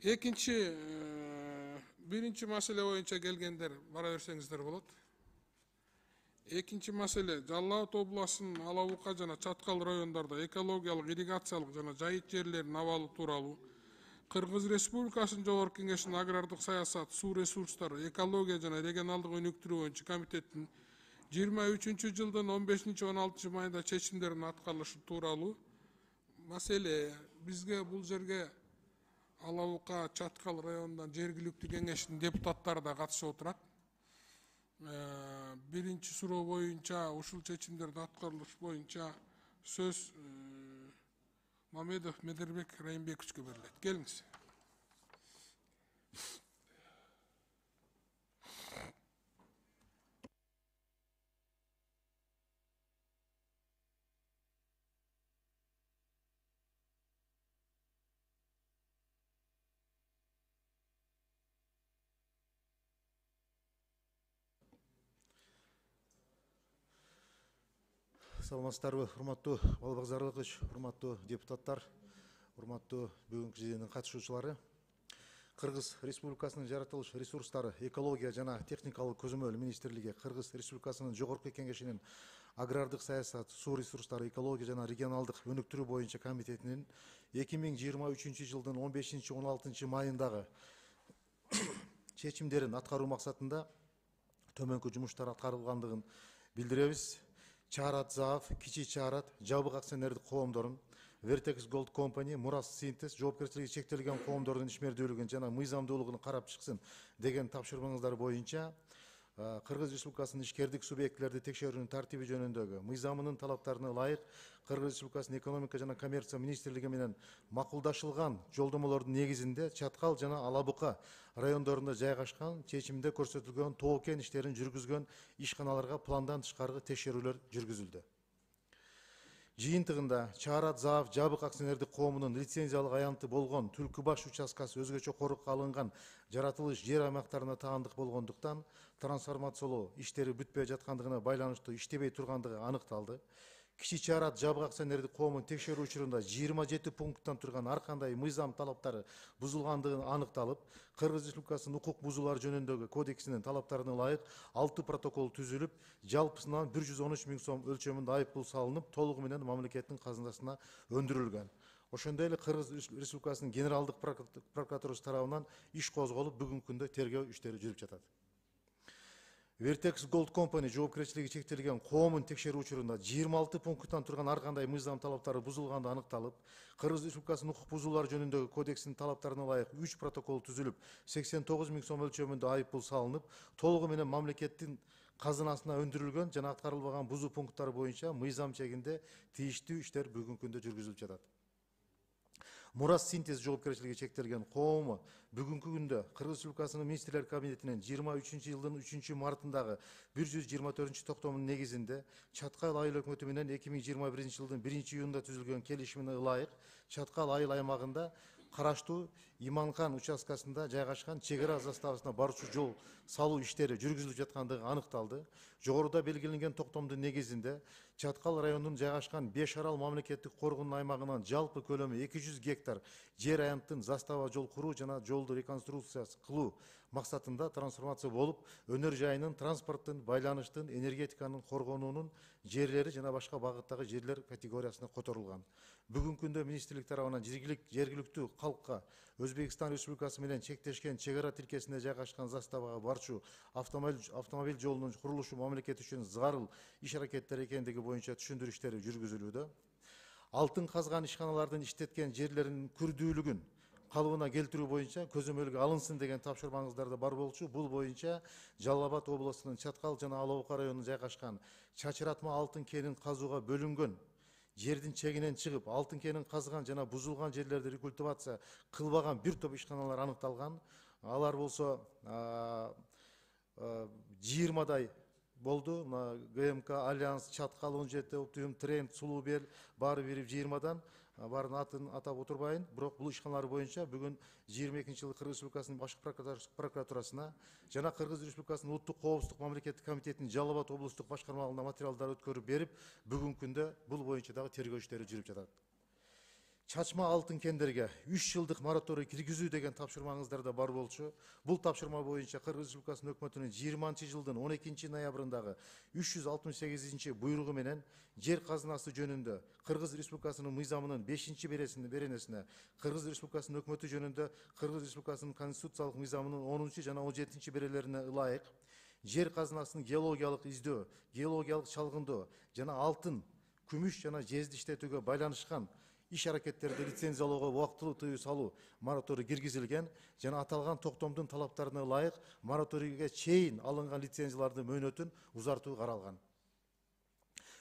Экинчи, биринчи маселе боюнча келгендер бара берсеңиздер болот. Экинчи маселе Жалал Абад областынын Ала Бука жана Чаткал райондордо экологиялык, ирригациялык жана жайыт жерлерин абалы тууралуу Кыргыз Республикасынын Жогорку Кеңешинин агрардык саясат, суу ресурстары, экология жана регионалдык өнүктүрүү боюнча комитеттин 23-жылдын 15-16 майында чечимдеринин аткарылышы тууралуу маселе. Бизге бул жерге Ала Бука, Чаткал районунан жергиликтүү кеңештин депутаттары да катышып отурат. Биринчи суроо боюнча ушул чечимдердин аткарылышы боюнча сөз Мамедов Медербек Райымбековичке берилет. Келиңиз. Саламатсыздарбы, урматтуу Балбак Зарлыкович, урматтуу депутаттар, урматтуу бүгүнкү жыйындын катышуучулары. Кыргыз Республикасынын жаратылыш ресурстары, экология жана техникалык көзөмөл министрлиги Кыргыз Республикасынын Жогорку Кеңешинин агрардык саясат, суу ресурстары, экология жана регионалдык өнүктүрүү боюнча комитетинин 2023-жылдын 15-16 майындагы чечимдерин аткаруу максатында төмөнкү жумуштар аткарылгандыгын билдиребиз. Чаарат ЗААФ, Кичи Чаарат, жабык акционердик коомдорун, Vertex Gold Company, Мурас Синтез, жоопкерчилиги чектелген коомдордун ишмердүүлүгүн жана мыйзамдуулугун карап чыксын деген тапшырмаңыздар боюнча Кыргыз Республикасынын ишкердик субъектилерди текшерүүнүн тартиби жөнүндөгү мыйзамынын талаптарына ылайык Кыргыз Республикасынын экономика жана коммерция министрлиги менен макулдашылган жолдомолордун негизинде Чаткал жана Ала Бука райондорунда жайгашкан чечимде көрсөтүлгөн тоо кен иштерин жүргүзгөн ишканаларга пландан тышкары текшерүүлөр жүргүзүлдү. Жыйынтыгында Чаарат ЗААФ жабык акционердик коомунун лицензиялык аянты болгон Түлкү баш участкасы өзгөчө корукка алынган жаратылыш жер аймактарына таандык болгондуктан трансформациялоо иштери бүтпөй жаткандыгына байланыштуу иштебей тургандыгы аныкталды. Кичи Чаарат жабык акционердик коомун текшерүү учурунда 27 пункттан турган ар кандай мыйзам талаптары бузулгандыгы аныкталып, Кыргыз Республикасынын укук бузуулар жөнүндөгү кодексинин талаптарына ылайык 6 протокол түзүлүп, жалпысынан 113 000 сом өлчөмүндө айыппул салынып, толугу менен мамлекеттин казынасына өндүрүлгөн. Ошондой эле Кыргыз Республикасынын Генералдык прокуратурасы тарабынан иш козголуп, бүгүнкү күндө тергөө иштери жүрүп жатат. Vertex Gold Company жоопкерчилиги чектелген коомун текшерүү учурунда 26 пункттан турган ар кандай мыйзам талаптары бузулганды аныкталып, Кыргыз Республикасынын укук бузуулар жөнүндөгү кодексинин талаптарына ылайык 3 протокол түзүлүп, 89 000 сом өлчөмүндө айыппул салынып, толугу менен мамлекеттин казынасына өндүрүлгөн жана аткарылбаган бузуу пункттары боюнча мыйзам чегинде тийиштүү иштер бүгүнкү күндө жүргүзүлүп жатат. Мурас Синтез жоопкерчилиги чектелген коому бүгүнкү күндө Кыргыз Республикасынын министрлер кабинетинин 23-жылдын 3-мартындагы 124 токтомунун негизинде Чаткал айыл өкмөтү менен 2021-жылдын 1-июнунда түзүлгөн келишимине ылайык Чаткал айыл аймагында караштуу Иманхан участкасында жайгашкан чек ара заставасына барчу жол салуу иштери жүргүзүлүп жаткандыгы аныкталды. Жогоруда белгиленген токтомдун негизинде Чаткал районунун жайгашкан 5 арал мамлекеттик коргоонун аймагынан жалпы көлөмү 200 гектар жер аянттын застава жол куруу жана жолду реконструкция кылуу максатында трансформация болуп, өнөр жайынын, транспорттун, байланыштын, энергетиканын коргонуунун жерлери жана башка багыттагы жерлер категориясына которулган. Бүгүнкү күндө министрлик тарабынан жергиликтүү калкка Өзбекстан Республикасы менен чектешкен чек ара тилкесинде жайгашкан заставага барчу автомобиль жолунун курулушу мамлекет үчүн зарыл иш аракеттер экендиги боюнча түшүндүрүү иштери жүргүзүлүүдө. Алтын казган ишканалардын иштеткен жерлеринин күрдүүлүгүн калыбына келтирүү боюнча көзөмөлгө алынсын деген тапшырмаңыздар да бар болчу. Бул боюнча Жалал Абад областынын Чаткал жана Ала Бука районунда жайгашкан чачыратма алтын кенин казууга бөлүнгөн жердин чегинен чыгып, алтын кенин казган жана бузулган жерлерди рекультивация кылбаган бир топ ишканалар аныкталган. Алар болсо 20 болду. ГМК, Альянс, Чаткал 17, Оптимум, Тренд, Сулуу Бел баары бири 20-дан. Барын атын атап отурбайын. Бирок бул ишканалар боюнча бүгүн 22-жылы Кыргыз Республикасынын башкы прокуратурасына жана Кыргыз Республикасынын Улуттук коопсуздук мамлекеттик комитетинин Жалал Абад облустук башкармалыгына материалдар өткөрүп берип, бүгүнкү күндө бул боюнча дагы тергөө иштери жүрүп жатат. чачма алтын кендерге 3 жылдык мораторий киргизүү деген тапшырмаңыздар да бар болчу. Бул тапшырма боюнча Кыргыз Республикасынын өкмөтүнүн 20-жылдын 12 ноябрындагы 368 буйругу менен жер казынасы жөнүндө Кыргыз Республикасынын мыйзамынын 5-беренесине, Кыргыз Республикасынын өкмөтү жөнүндө Кыргыз Республикасынын конституциялык мыйзамынын 10 жана 17 берелерине ылайык жер казынасын геологиялык издөө, геологиялык чалгындоо жана алтын, күмүш жана жезди иштетүүгө байланышкан иш аракеттерди лицензиялоого убактылуу тыюу салуу мораторий киргизилген жана аталган токтомдун талаптарына ылайык мораторийге чейин алынган лицензиялардын мөөнөтүн узартуу каралган.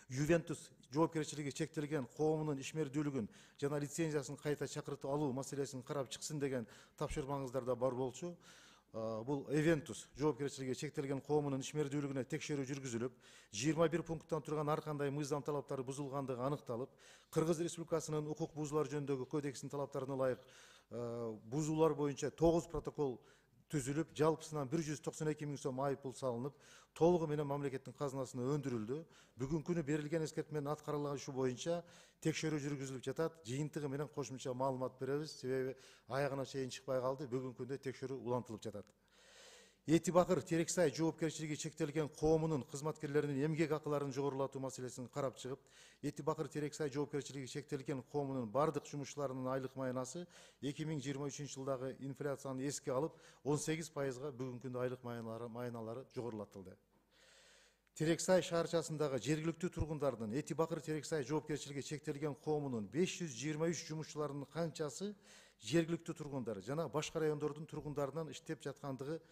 Ювентус жоопкерчилиги чектелген коомунун ишмердүүлүгүн жана лицензиясын кайта чакыртып алуу маселесин карап чыксын деген тапшырмаңыздар да бар болчу. Бул Эвентус жоопкерчилиги чектелген коомунун ишмердүүлүгүнө текшерүү жүргүзүлүп, 21 пункттан турган ар кандай мыйзам талаптары бузулгандыгы аныкталып, Кыргыз Республикасынын укук бузуулар жөнүндөгү кодексинин талаптарына ылайык бузуулар боюнча 9 протокол түзүлүп, жалпысынан 192 миң сом айып пул салынып, толугу менен мамлекеттин казынасына өндүрүлдү. Бүгүнкү күнү берилген эскертменин аткарылышы боюнча текшерүү жүргүзүлүп жатат. Жыйынтыгы менен кошумча маалымат беребиз, себеби аягына чейин чыкпай калды. Бүгүнкү күндө текшерүү улантылып жатат. Эти Бакыр Терексай жоопкерчилиги чектелген коомунун кызматкерлеринин эмгек акыларын жогорулатуу маселесин карап чыгып, Эти Бакыр Терексай жоопкерчилиги чектелген коомунун бардык жумушчуларынын айлык майнасы 2023 жылдагы инфляцияны эске алып 18%га бүгүнкү күндө айлык майналары жогорулатылды. Терексай шаарчасындагы жергиликтүү тургундардын Эти Бакыр Терексай жоопкерчилиги чектелген коомунун 523 жумушчуларынын канчасы жергиликтүү тургундар жана башка райондордун тургундарынан иштеп жаткандыгы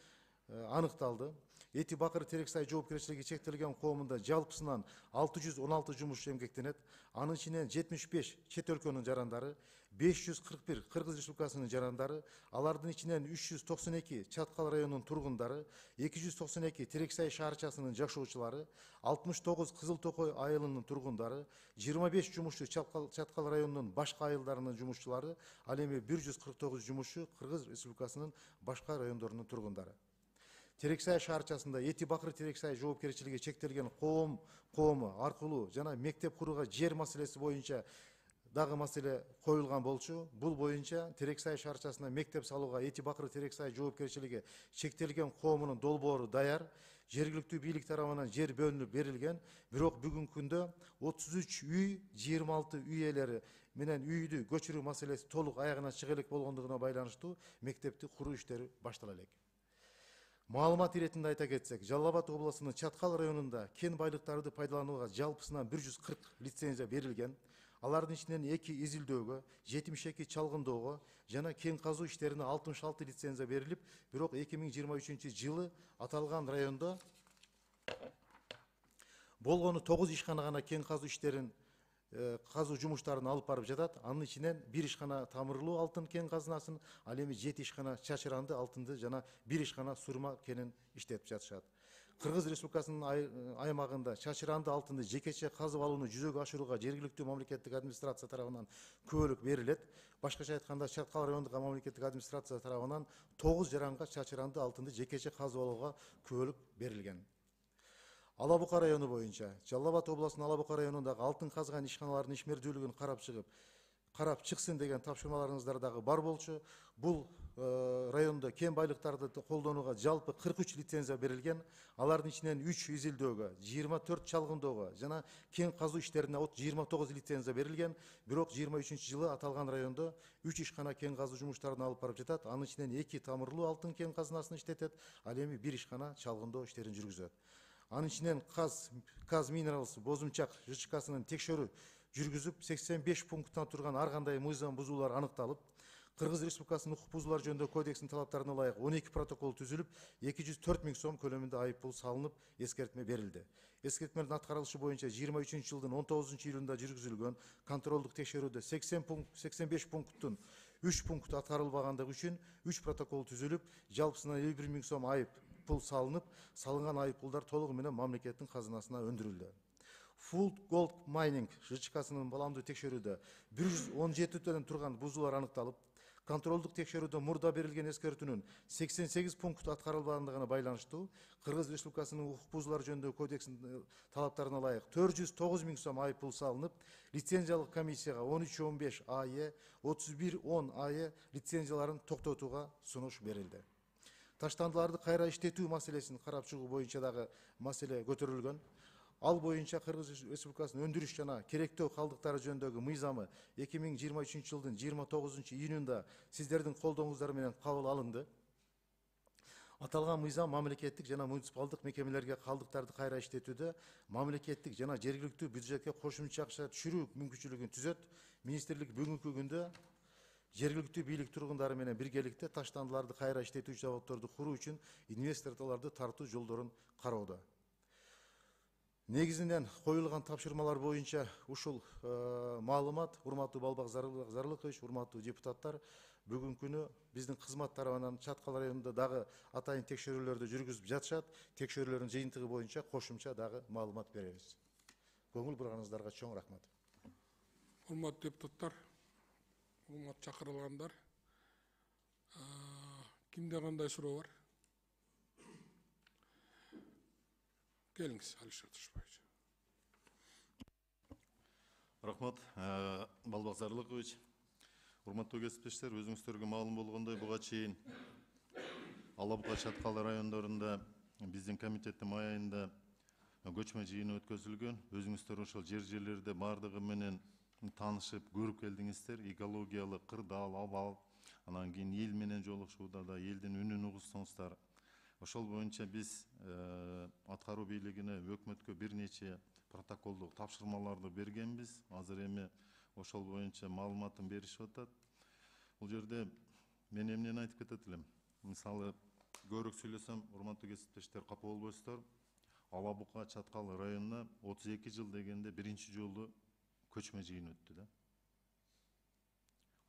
аныкталды. Эти Бакыр Терексай жоопкерчилиги чектелген коомунда жалпысынан 616 жумушчу эмгектенет. Анын ичинен 75 чет өлкөнүн жарандары, 541 Кыргыз Республикасынын жарандары, алардын ичинен 392 Чаткал районунун тургундары, 292 Терексай шаарчасынын жашоочулары, 69 Кызыл Токой айылынын тургундары, 25 жумушчу Чаткал районунун башка айылдарынын жумушчулары, ал эми 149 жумушчу Кыргыз Республикасынын башка райондорунун тургундары. Терексай шаарчасында Эти Бакыр Терексай жоопкерчилиги чектелген коому аркылуу жана мектеп курууга жер маселеси боюнча дагы маселе коюлган болчу. Бул боюнча Терексай шаарчасына мектеп салууга Эти Бакыр Терексай жоопкерчилиги чектелген коомунун долбоору даяр. Жергиликтүү бийлик тарабынан жер бөлүнүп берилген, бирок бүгүнкү күндө 33 үй, 26 үй ээлери менен үйдү көчүрүү маселеси толук аягына чыга элек болгондугуна байланыштуу мектепти куруу иштери баштала элек. Маалымат иретинде айта кетсек, Жалал Абад областынын Чаткал районунда кен байлыктарды пайдаланууга жалпысынан 140 лицензия берилген. Алардын ичинен 2 изилдөөгө, 72 чалгындоого жана кен казуу иштерине 66 лицензия берилип, бирок 2023 жылы аталган райондо болгону 9 ишкана гана кен казуу иштерин казуу жумуштарын алып барып жатат. Анын ичинен 1 ишкана тамырлуу алтын кен казынасын, ал эми 7 ишкана чачыранды алтынды жана 1 ишкана сурма кенин иштетип жатышат. Кыргыз Республикасынын аймагында чачыранды алтынды жекече казып алууну жүзөгө ашырууга жергиликтүү мамлекеттик администрация тарабынан көбөлүк берилет. Башкача айтканда, Чаткал райондук мамлекеттик администрация тарабынан 9 жаранга чачыранды алтынды жекече казып алууга көбөлүк берилген. Ала Бука району боюнча Жалал Абад областынын Ала Бука районундагы алтын казган ишканалардын ишмердүүлүгүн карап чыксын деген тапшырмаларыңыздар дагы бар болчу. Бул райондо кен байлыктарды колдонууга жалпы 43 лицензия берилген. Алардын ичинен 3 изилдөөгө, 24 чалгындоого жана кен казуу иштерине 29 лицензия берилген. Бирок 23 жылы аталган райондо 3 ишкана кен казуу жумуштарын алып барып жатат. Анын ичинен 2 тамырлуу алтын кен казынасын иштетет, ал эми 1 ишкана чалгындоо иштерин жүргүзөт. Анын ичинен Каз Минералс Бозумчак ЖЧКсынын текшерүү жүргүзүп 85 пункттан турган ар кандай мыйзам бузуулар аныкталып, Кыргыз Республикасынын укук бузуулар жөнүндө кодексинин талаптарына ылайык 12 протокол түзүлүп, 204 миң сом көлөмүндө айып пул салынып, эскертме берилди. Эскертменин аткарылышы боюнча 23 жылдын 19 июлунда жүргүзүлгөн контролдук текшерүүдө 85 пункттун 3 пункту аткарылбагандыгы үчүн 3 протокол түзүлүп, жалпысынан 51 миң сом айып пул салынып, салынган айып пулдар толугу менен мамлекеттин казынасына өндүрүлдү. Full Gold Mining ЖЧКсынын баламдуу текшерүүдө 117 түрдөн турган бузуулар аныкталып, Контролдук текшерүүдө мурда берилген эскертүүнүн 88 пункт аткарылбагандыгына байланыштуу Кыргыз Республикасынын укук бузуулар жөнүндөгү кодексинин талаптарына ылайык 409 000 сом айып пул салынып, лицензиялык комиссияга 1315 АЕ, 3110 АЕ лицензияларын токтотууга сунуш берилди. Таштандыларды кайра иштетүү маселесин карап чыгуу боюнча дагы маселе көтөрүлгөн. Ал боюнча Кыргыз Республикасынын өндүрүш жана керектөө калдыктары жөнүндөгү мыйзамы 2023 жылдын 29 июнунда сиздердин колдооңуздар менен кабыл алынды. Аталган мыйзам мамлекеттик жана муниципалдык мекемелерге калдыктарды кайра иштетүүдө мамлекеттик жана жергиликтүү бюджетке кошумча акча түшүрүү мүмкүнчүлүгүн түзөт. Министрлик бүгүнкү күндө жергиликтүү бийлик тургундары менен биргеликте таштандыларды кайра иштетүүчү заводдорду куруу үчүн инвесторлорду тартуу жолдорун кароодо. Негизинен коюлган тапшырмалар боюнча ушул маалымат, урматтуу Балбак Зарлыкович, урматтуу депутаттар, бүгүнкү күнү биздин кызмат тарабынан Чаткал районунда дагы атайын текшерүүлөрдү жүргүзүп жатышат. Текшерүүлөрдүн жыйынтыгы боюнча кошумча дагы маалымат беребиз. Көңүл бурганыңыздарга чоң рахмат. Урматтуу депутаттар, урматтуу чакырылгандар, кимде кандай суроо бар? Келиңиз, Алишер Тышбаевич. Рахмат, Балбак Зарлыкович. Урматтуу кесиптештер, өзүңүздөргө маалым болгондой, буга чейин Ала Бука Чаткал райондорунда биздин комитеттин май айында көчмө жыйыны өткөзүлгөн. Өзүңүздөр ошол жерлерде бардыгы менен таанышып, көрүп келдиңиздер. Экологиялык, кырдаал, абал, анан кийин эл менен жолугушууда да элдин үнүн угуштуңуздар. Ошол боюнча биз аткаруу бийлигине, өкмөткө бир нече протоколдук тапшырмаларды бергенбиз. Азыр эми ошол боюнча маалыматын беришип атат. Бул жерде мен эмнени айтып кетет элем? Мисалы, көбүрөөк сүйлөсөм, урматтуу кесиптештер капа болбойсуздар. Ала Бука Чаткал районуна 32 жыл дегенде биринчи жолу көчмө жыйын өттү да.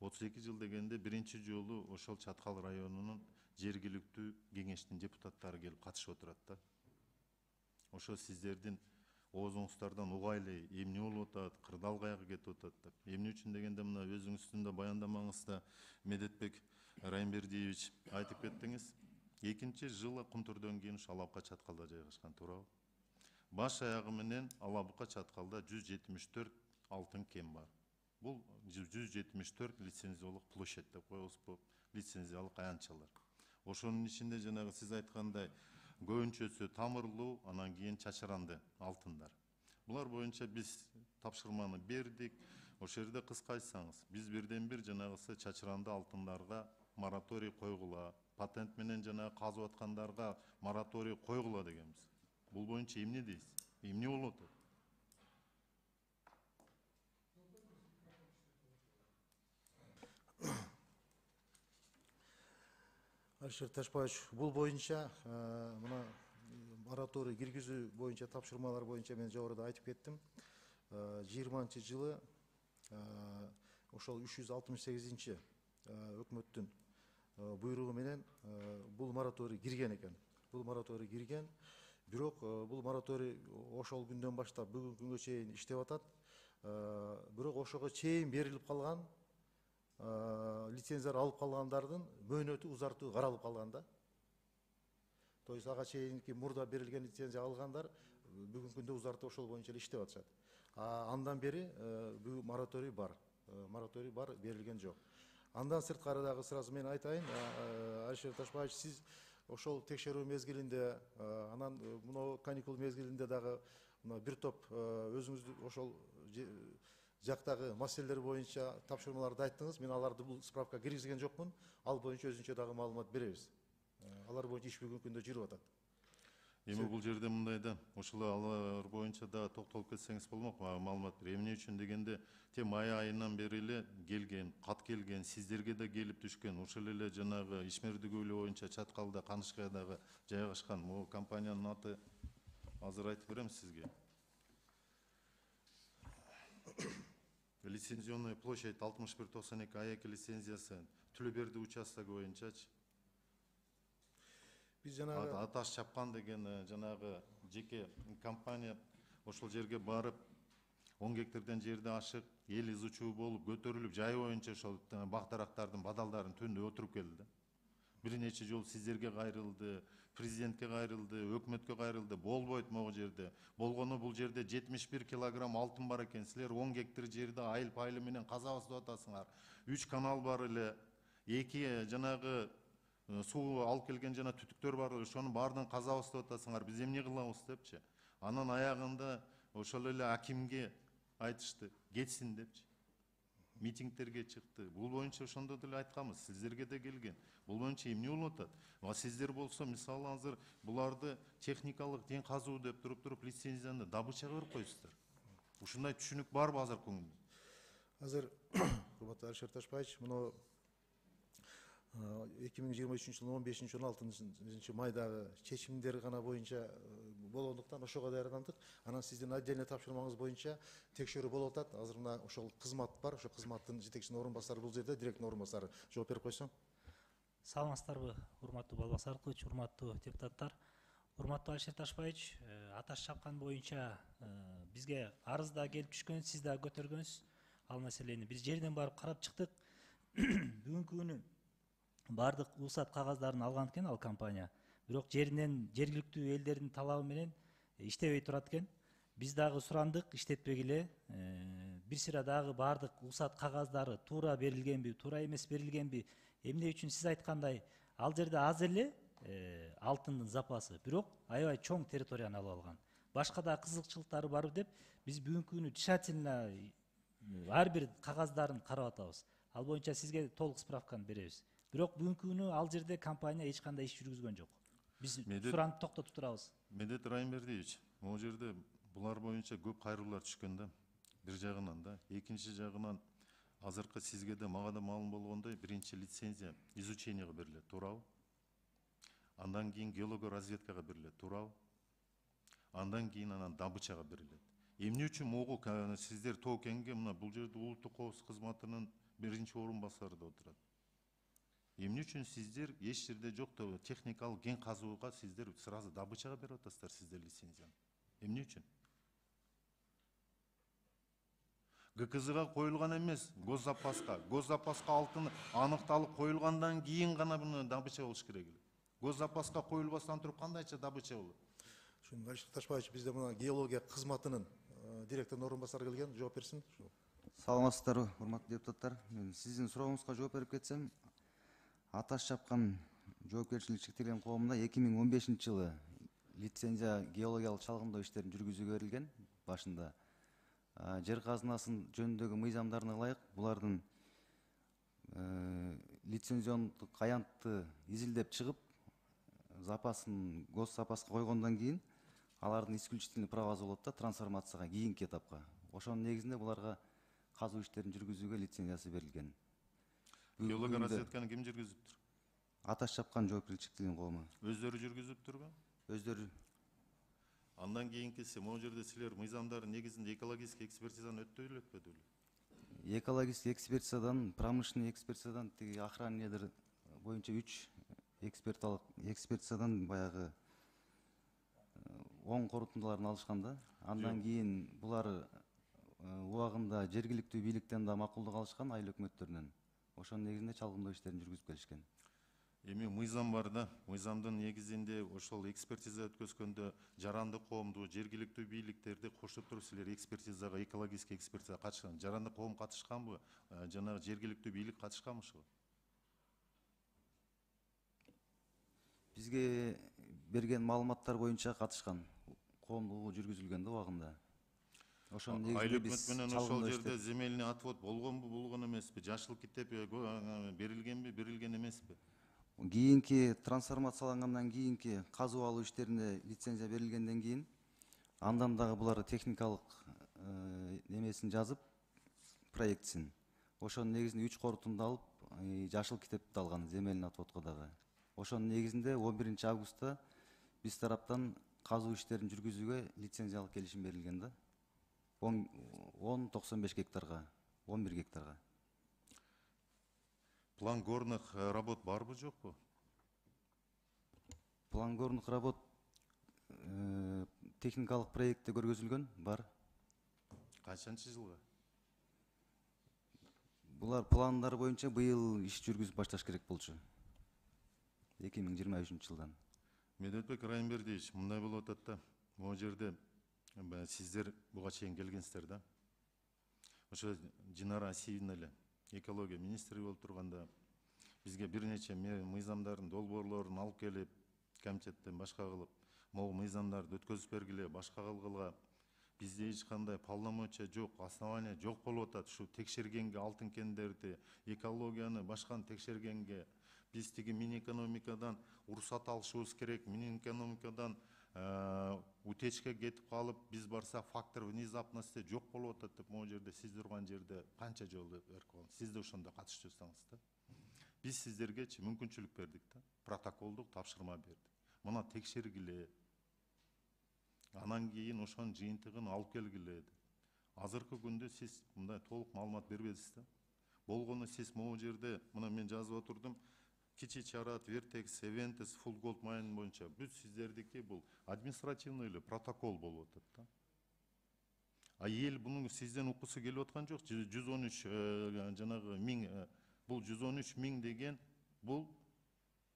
32 жыл дегенде биринчи жолу ошол Чаткал районунун жергиликтүү кеңештин депутаттары келип катышып отурат да. Ошо сиздердин оозуңуздардан угайлы эмне болуп атат, кырдаал каяка кетип атат деп. Эмне үчүн дегенде мына өзүңүздүн да баяндамаңызда Медетбек Райымбердиевич айтып кеттиңиз. Экинчи жылы Кумтурдон кийин Ала Бука Чаткалда жайгашкан, туурабы? Баш аягы менен Ала Бука Чаткалда 174 алтын кен бар. Бул 174 лицензиялык площадь деп коебуз, лицензиялык аянтчалар. Ошонун ичинде жанагы сиз айткандай көбүнчөсү тамырлуу, анан кийин чачыранды алтындар. Булар боюнча биз тапшырманы бердик. Ошол жерде кыска айтсаңыз, биз бирден бир жанагысы чачыранды алтындарга мораторий койгула, патент менен жанагы казып аткандарга мораторий койгула дегенбиз. Бул боюнча эмне дейсиз? Эмне болуп атат? Алишер Ташбаевич, бул боюнча мына мораторий киргизүү боюнча тапшырмалар боюнча мен жогоруда айтып кеттим. 20 жылы ошол 368 өкмөттүн буйругу менен бул мораторий кирген экен. Бул мораторий кирген, бирок бул мораторий ошол күндөн баштап бүгүнкү күнгө чейин иштеп атат. Бирок ошого чейин берилип калган лицензиялар алып калгандардын мөөнөтү узартуу каралып калган да. То есть ага чейинки мурда берилген лицензия алгандар бүгүнкү күндө узартып ошол боюнча эле иштеп атышат. Андан бери бул мораторий бар. Мораторий бар, берилген жок. Андан сырткары дагы сразу мен айтайын, Алишер Ташбаевич, сиз ошол текшерүү мезгилинде, анан мына каникул мезгилинде дагы бир топ өзүңүздү ошол жактагы маселелер боюнча тапшырмаларды айттыңыз. Мен аларды бул справка киргизген жокмун. Ал боюнча өзүнчө дагы маалымат беребиз. Алар боюнча иш бүгүнкү күндө жүрүп атат. Эми бул жерде мындай да, ошол алар боюнча да токтолуп кетсеңиз болмок, маалымат бер. Эмне үчүн дегенде, май айынан бери эле келген, кат келген, сиздерге да келип түшкөн, ошол эле жанагы Ишмерди көлү боюнча Чаткалда, Канышкайдагы жайгашкан. Могу компаниянын аты азыр айтып берем сизге. Лицензионная площадь 6192 АЭК лицензиясы Түлөберди участогу боюнчачы. Биз жанагы Аташ чапкан деген жанагы жеке компания ошол жерге барып 10 гектардан жерде ашык, эл изучуу болуп, көтөрүлүп, жай боюнча ошол бак дарактардын бадалдарын түндө отуруп келди да. Бир нече жолу сиздерге кайрылды, президентке кайрылды, өкмөткө кайрылды, болбойт могу жерде. Болгону бул жерде 71 килограмм алтын бар экен. Силер 10 гектар жерде айыл пайлы менен казабыз деп атасыңар. 3 канал бар эле, 2 жанагы суу алып келген жана түтүктөр бар эле, ошонун баардыгын казабыз деп атасыңар. Биз эмне кылабыз депчи. Анан аягында ошол эле акимге айтышты, кетсин депчи. Митингтерге чыкты. Бул боюнча ошондо деле айтканбыз, сиздерге да келген. Бул боюнча эмне болуп атат? Сиздер болсо, мисалы азыр буларды техникалык тең казуу деп туруп лицензияны добычага берип коесуздар. Ушундай түшүнүк барбы азыркы күндө? Азыр урматтуу Алишер Ташбаевич, муну 2023 жылдын 15-16 майдагы чечимдер гана боюнча болгондуктан ошого даярдандык. Анан сиздин отдельный тапшырмаңыз боюнча текшерүү болуп атат. Азыр мына ошол кызмат бар, ошол кызматтын жетекчинин орун басары бул жерде, директордун орун басары жооп берип койсоң. Саламатсыздарбы, урматтуу Балбас Аркылович, урматтуу депутаттар. Урматтуу Алишер Ташбаевич, аташ чапкан боюнча бизге арыз да келип түшкөн, сиз да көтөргөнсүз ал маселени. Биз жерден барып карап чыктык. Бүгүнкү күнү бардык уруксат кагаздарын алган экен ал компания. Бирок жеринен жергиликтүү элдердин талабы менен иштебей турат экен. Биз дагы сурандык, иштетпегиле. Бир сыйра дагы бардык уруксат кагаздары туура берилгенби, туура эмес берилгенби, эмне үчүн сиз айткандай ал жерде аз эле алтындын запасы, бирок аябай чоң территорияны алып алган. Башка да кызыкчылыктары барбы деп биз бүгүнкү күнү тщательно ар бир кагаздарын карап атабыз. Ал боюнча сизге толук справканы беребиз. Бирок бүгүнкү күнү ал жерде компания эч кандай иш жүргүзгөн жок. Биз суранып токтотуп турабыз. Медет Райымбердиевич, могу жерде булар боюнча көп кайрылуулар түшкөн да. Бир жагынан да, экинчи жагынан азыркы сизге да мага да маалым болгондой, биринчи лицензия изученияга берилет, туурабы? Андан кийин геологоразведкага берилет, туурабы? Андан кийин анан добычага берилет. Эмне үчүн могу сиздер тоокенге мына бул жерде улуттук коопсуздук кызматынын биринчи орун басары да отурат? Эмне үчүн сиздер эч жерде жок техникалык кен казууга сиздер сразу добычага берип атасыздар сиздер лицензияны? Эмне үчүн? ГКЗга коюлган эмес, госзапаска. Госзапаска алтын аныкталып коюлгандан кийин гана буну добыча болуш керек эле. Госзапаска коюлбастан туруп кандайча добыча болот? Алишер Ташбаевич, бизде мына геология кызматынын директордун орун басары келген, жооп берсин. Саламатсыздарбы, урматтуу депутаттар. Мен сиздин сурооңузга жооп берип кетсем, аташ чапкан жоопкерчилиги чектелген коомуна 2015 жылы лицензия геологиялык чалгындоо иштерин жүргүзүүгө берилген. Башында жер казынасын жөнүндөгү мыйзамдарына ылайык булардын лицензиондук аянтты изилдеп чыгып, запасын госзапаска койгондон кийин алардын исключительный правасы болот да трансформацияга кийинки этапка. Ошонун негизинде буларга казуу иштерин жүргүзүүгө лицензиясы берилген. Геологоразведканы ким жүргүзүптүр? Аташ чапкан жоопкерчилиги чектелген коому. Өздөрү жүргүзүптүрбү? Өздөрү. Андан кийинкиси, могу жерде силер мыйзамдардын негизинде экологический экспертизаны өттү беле, өтпөдү беле? Экологический экспертизадан, промышленный экспертизадан, тиги охранныйдыр боюнча 3 экспертизадан баягы оң корутундуларын алышкан да. Андан кийин булар убагында жергиликтүү бийликтен да макулдук алышкан, айыл өкмөттөрүнөн. Ошонун негизинде чалгындоо иштерин жүргүзүп келишкен. Эми мыйзам бар да, мыйзамдын негизинде ошол экспертиза өткөзгөндө жарандык коомду, жергиликтүү бийликтерди кошуп туруп силер экспертизага, экологический экспертизага катышкан. Жарандык коом катышканбы? Жанагы жергиликтүү бийлик катышканбы ошого? Бизге берген маалыматтар боюнча катышкан. Коомдугу жүргүзүлгөн да убагында. Ошонун негизинде биз менен ошол жерде земельный отвод болгонбу, болгон эмеспи? Жашыл китеп берилгенби, берилген эмеспи? Кийинки трансформациялангандан кийинки казуу алуу иштерине лицензия берилгенден кийин андан дагы булар техникалык немесин жазып, проектсин. Ошонун негизинде 3 корутунду алып, жашыл китепти алган земельный отводко дагы. Ошонун негизинде 11 августта биз тараптан казуу иштерин жүргүзүүгө лицензиялык келишим берилген да. 10-95 гектарга, 11 гектарга. План горных работ барбы, жокпу? План горных работ техникалык проектте көргөзүлгөн, бар. Качанчы жылга? Булар пландар боюнча быйыл иш жүргүзүп башташ керек болчу. 2023 жылдан. Медетбек Райымбердиевич, мындай болуп атат да. Могу жерде сиздер буга чейин келгенсиздер да. Ошо Динара Асиевна эле экология министри болуп турганда бизге бир нече мыйзамдардын долбоорлорун алып келип, комитеттен башка кылып, могу мыйзамдарды өткөзүп бергиле, башка кылгыла. Бизде эч кандай полномочия жок, основания жок болуп атат. Ушу текшергенге, алтын кендерди, экологияны, башканы текшергенге биз тиги Минэкономикадан уруксат алышыбыз керек. Минэкономикадан утечка кетип калып, биз барсак фактор внезапности жок болуп атат деп могу жерде сиз турган жерде канча жолу берип сиз да ошондо катышып жүрсөңүз да. Биз сиздергечи мүмкүнчүлүк бердик да. Протоколдук тапшырма бердик. Мына текшергиле. Анан кийин ошонун жыйынтыгын алып келгиле. Азыркы күндө сиз мындай толук маалымат бербедиңиз да. Болгону сиз могу жерде, мына мен жазып отурдум, Кичи Чарат, Вертекс, Эвентес, Full Gold Mine боюнча бүт сиздердики бул административный эле протокол болуп атат да. А эл бунун сизден уккусу келип аткан жок. 113 жанагы 1000 бул 113 000 деген бул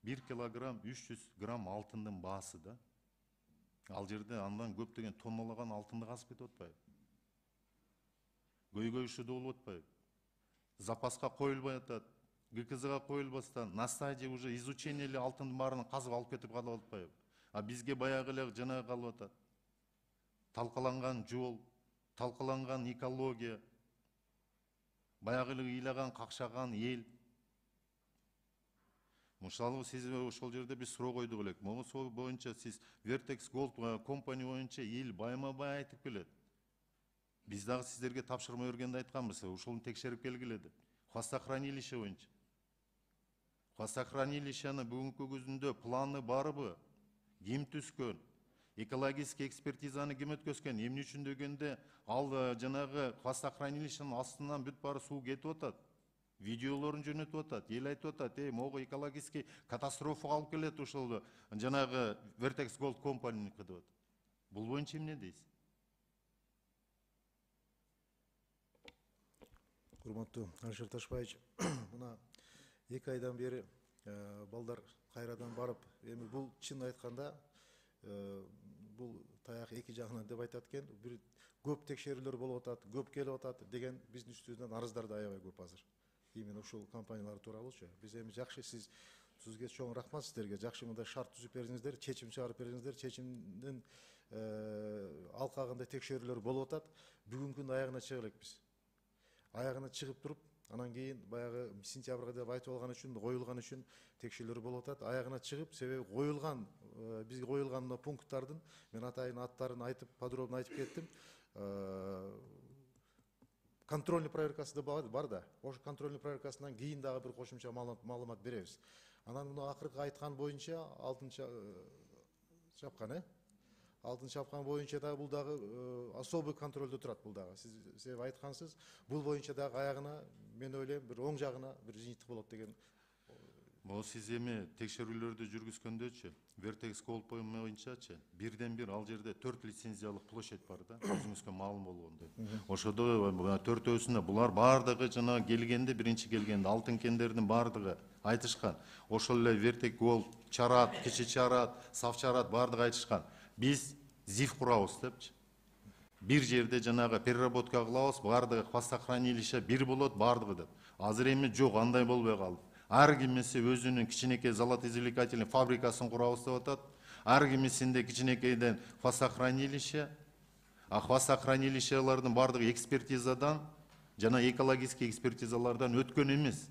1 килограмм 300 грамм алтындын баасы да. Ал жерде андан көптөгөн тонналаган алтынды казып кетип атпайбы? Көйгөй ушууда болуп атпайбы? Запаска коюлбай атат. ГКЗга коюлбастан на стадии уже изучение эле алтындын баарын казып алып кетип калып атпайбы? А бизге баягы эле жанагы калып атат. Талкаланган жол, талкаланган экология, баягы эле ыйлаган, какшаган эл. Мисалы сиз ошол жерде биз суроо койдук элек. Могу сол боюнча сиз Vertex Gold Company боюнча эл байма-бай айтып келет. Биз дагы сиздерге тапшырма бергенде айтканбыз, ошону текшерип келгиле деп. Хвостохранилище боюнча. Хвостохранилищени бүгүнкү күндө планы барбы? Ким түзгөн? Экологический экспертизаны ким өткөзгөн? Эмне үчүн дегенде ал жанагы хвостохранилищенин астынан бүт баары суу кетип атат. Видеолорун жөнөтүп атат, эл айтып атат, могу экологический катастрофага алып келет ошол жанагы Vertex Gold Company деп атат. Бул боюнча эмне дейсиз? Урматтуу Алишер Ташбаевич, мына 2 айдан бери балдар кайрадан барып, эми бул чын айтканда бул таяк 2 жагынан деп айтат экен, бир көп текшерүүлөр болуп атат, көп келип атат деген биздин үстүбүздөн арыздар да аябай көп азыр. Именно ушул компаниялар тууралуучу. Биз эми жакшы сизге чоң рахмат сиздерге. Жакшы мындай шарт түзүп бердиңиздер, чечим чыгарып бердиңиздер. Чечимдин алкагында текшерүүлөр болуп атат. Бүгүнкү күндүн аягына чыга элек биз. Аягына чыгып туруп, анан кийин баягы сентябрга деп айтып алган үчүн, коюлган үчүн текшерүүлөр болуп атат. Аягына чыгып, себеби коюлган, бизге коюлган пункттардын мен атайын аттарын айтып, подробно айтып кеттим. Контрольный проверкасы да бар да. Ошо контрольный проверкасынан кийин дагы бир кошумча маалымат беребиз. Анан мына акыркы айткан боюнча алтын чапкан, алтын чапкан боюнча дагы бул дагы особый контролдо турат бул дагы. Сиз айткансыз, бул боюнча дагы аягына мен ойлойм бир оң жагына бир жыйынтык болот деген. Могу сиз эми текшерүүлөрдү жүргүзгөндөчү, Vertex Gold боюнчачы, бирден бир ал жерде 4 лицензиялык площадь бар да, өзүңүзгө маалым болгондой. Ошодо 4-өсүндө булар бардыгы жана келгенде, биринчи келгенде алтын кендердин бардыгы айтышкан. Ошол эле Vertex Gold, Чарат, Кичи Чарат, Сав Чарат бардыгы айтышкан. Биз ЗИФ курабыз депчи. Бир жерде жанагы переработка кылабыз, бардыгы хвостохранилище бир болот бардыгы деп. Азыр эми жок, андай болбой калды. Ар кимиси өзүнүн кичинекей золотоизвлекательный фабрикасын курабыз деп атат. Ар кимисинде кичинекейден хвостохранилище, а хвостохранилищелердин бардыгы экспертизадан жана экологический экспертизалардан өткөн эмес.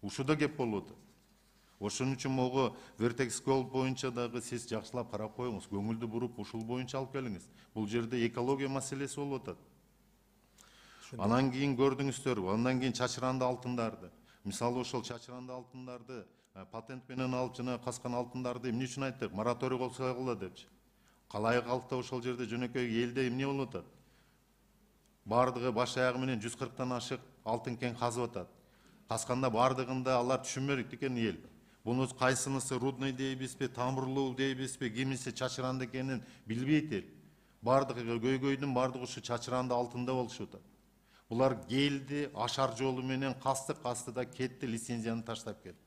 Ушуда кеп болуп атат. Ошон үчүн могу Vertex Gold боюнча дагы сиз жакшылап карап коюңуз, көңүлдү буруп ушул боюнча алып келиңиз. Бул жерде экология маселеси болуп атат. Анан кийин көрдүңүздөр, андан кийин чачыранды алтындарды. Мисалы ошол чачыранды алтындарды патент менен алып жана каскан алтындарды эмне үчүн айттык? Мораторий колсогула депчи. Калай калкта ошол жерде жөнөкөй элде эмне болуп атат? Бардыгы баш аягы менен 140тан ашык алтын кен казып атат. Касканда бардыгында алар түшүнбөдүк экен эл. Буну кайсынысы рудный дейбизби, тамырлуу дейбизби, кимиси чачыранды экенин билбейт эл. Бардыгы көйгөйдүн бардыгы ушу чачыранды алтында болушуп атат. Булар келди, ашар жолу менен касты да кетти, лицензияны таштап кетти.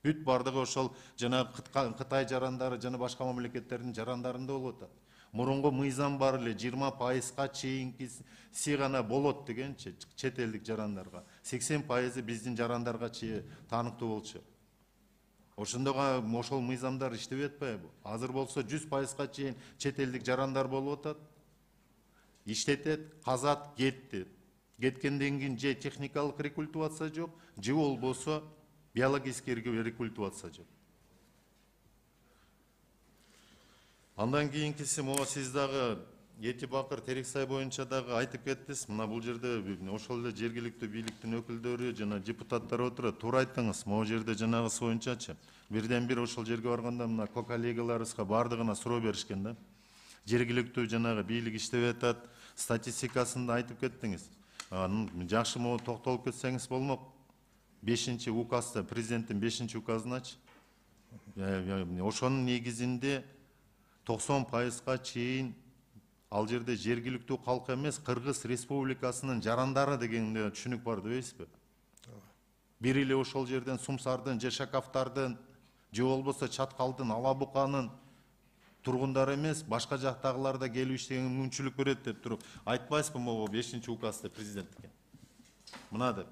Бүт бардыгы ошол жана Кытай жарандары жана башка мамлекеттердин жарандарында болуп атат. Мурунку мыйзам бар эле 20%га чейинкиси гана болот дегенчи чет элдик жарандарга. 80% биздин жарандарга чейин тааныктуу болчу. Ошондого ошол мыйзамдар иштебей атпайбы? Азыр болсо 100%га чейин чет элдик жарандар болуп атат. Иштетет, казат, кетти. Кеткенден кийин же техникалык рекультивация жок, же болбосо биологический рекультивация жок. Андан кийинкиси могу сиз дагы Эти Бакыр Терексай боюнча дагы айтып кеттиңиз. Мына бул жерде ошол эле жергиликтүү бийликтин өкүлдөрү жана депутаттар отурат. Туура айттыңыз. Могу жерде жанагысы боюнчачы. Бирден бир ошол жерге барганда мына коллегаларыбызга бардыгына суроо беришкен да. Жергиликтүү жанагы бийлик иштеп атат, статистикасын да айтып кеттиңиз. Жакшы могу токтолуп кетсеңиз болмок. 5-указда, президенттин 5-указыначы. Ошонун негизинде 90%га чейин ал жерде жергиликтүү калк эмес, Кыргыз Республикасынын жарандары дегенде түшүнүк бар дебейсизби? Бир эле ошол жерден Сумсардын, же Шакафтардын, же болбосо Чаткалдын, Ала Буканын тургундары эмес, башка жактагылар да келип иштеген мүмкүнчүлүк берет деп туруп айтпайсызбы могу 5-указда президенттикке? Мына деп.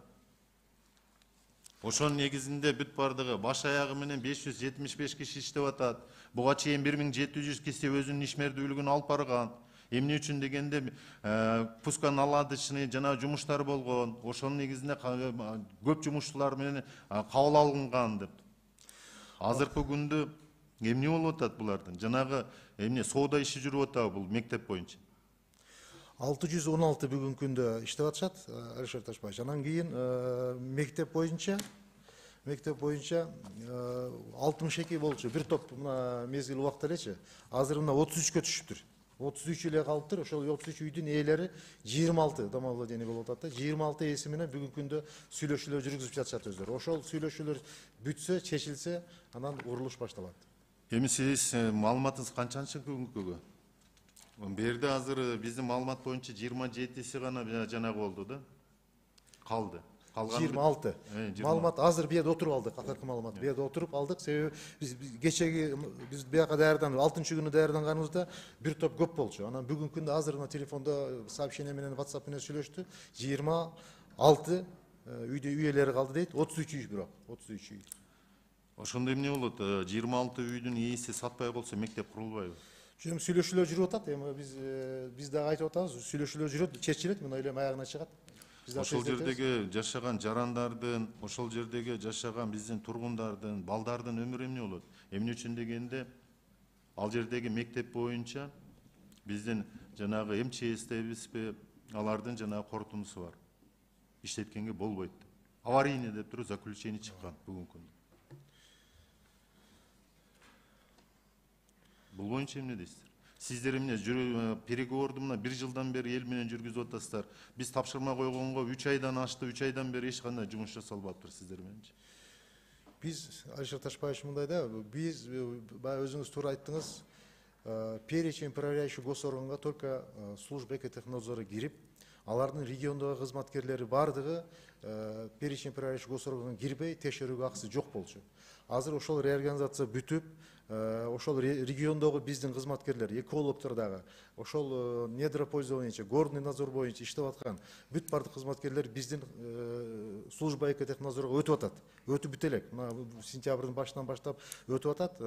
Ошонун негизинде бүт бардыгы баш аягы менен 575 киши иштеп атат. Буга чейин 1700 киши өзүнүн ишмердүүлүгүн алып барган. Эмне үчүн дегенде пусконаладочный жана жумуштар болгон. Ошонун негизинде көп жумушчулар менен кабыл алынган деп. Азыркы күндө эмне болуп атат булардын? Жанагы эмне соода иши жүрүп атабы бул мектеп боюнча? 616 бүгүнкү күндө иштеп атышат, Алишер Ташбаевич. Анан кийин мектеп боюнча 62 болчу. Бир топ мына мезгил убакта элечи. Азыр мына 33кө түшүптүр. 33 эле калыптыр. Ошол 33 үйдүн ээлери 26 домовладение болуп атат да. 26 ээси менен бүгүнкү күндө сүйлөшүүлөр жүргүзүп жатышат өздөрү. Ошол сүйлөшүүлөр бүтсө, чечилсе, анан урулуш башталат. Эми сиз маалыматыңыз канчанчы күнгөгө? Берде азыр биздин маалымат боюнча 27си гана жанагы болду да. Калды. 26. Маалымат азыр бияда отуруп алдык, акыркы маалымат. Бияда отуруп алдык, себеби биз кечеги биз бияка даярданып, 6-күнү даярданганыбызда бир топ көп болчу. Анан бүгүнкү күндө азыр телефондо сообщение менен, WhatsApp менен сүйлөштү. 26 үйдө үй ээлери калды дейт. 33 үй бирок, 33 үй. Ошондо эмне болот? 26 үйдүн ээси сатпай калса мектеп курулбайбы? Эми сүйлөшүүлөр жүрүп атат. Эми биз дагы айтып атабыз, сүйлөшүүлөр жүрөт, чечилет, мына эле аягына чыгат. Ошол жердеги жашаган жарандардын, ошол жердеги жашаган биздин тургундардын, балдардын өмүрү эмне болот? Эмне үчүн дегенде ал жердеги мектеп боюнча биздин жанагы МЧС'тебизби, алардын жанагы корутундусу бар. Иштеткенге болбойт. Аварийный деп туруп заключение чыккан бүгүнкү күндө. Бул боюнча эмне дейсиздер? Сиздер эмне переговорду мына 1 жылдан бери эл менен жүргүзүп атасыздар. Биз тапшырма койгонго 3 айдан ашты, 3 айдан бери эч кандай жумуш жасалбаптыр сиздер мененчи. Биз Алишер Ташбаевич мындай да, биз баягы өзүңүз туура айттыңыз, перечень проверяющий госорганга только служба экотехнадзора кирип, алардын региондогу кызматкерлери бардыгы перечень проверяющий госорганга кирбей текшерүүгө акысы жок болчу. Азыр ошол реорганизация бүтүп, ошол региондогу биздин кызматкерлер, экологдор дагы, ошол недропользование, горный надзор боюнча иштеп аткан бүт бардык кызматкерлер биздин служба экотехнадзорго өтүп атат. Өтүп бүт элек. Мына сентябрдын башынан баштап өтүп атат.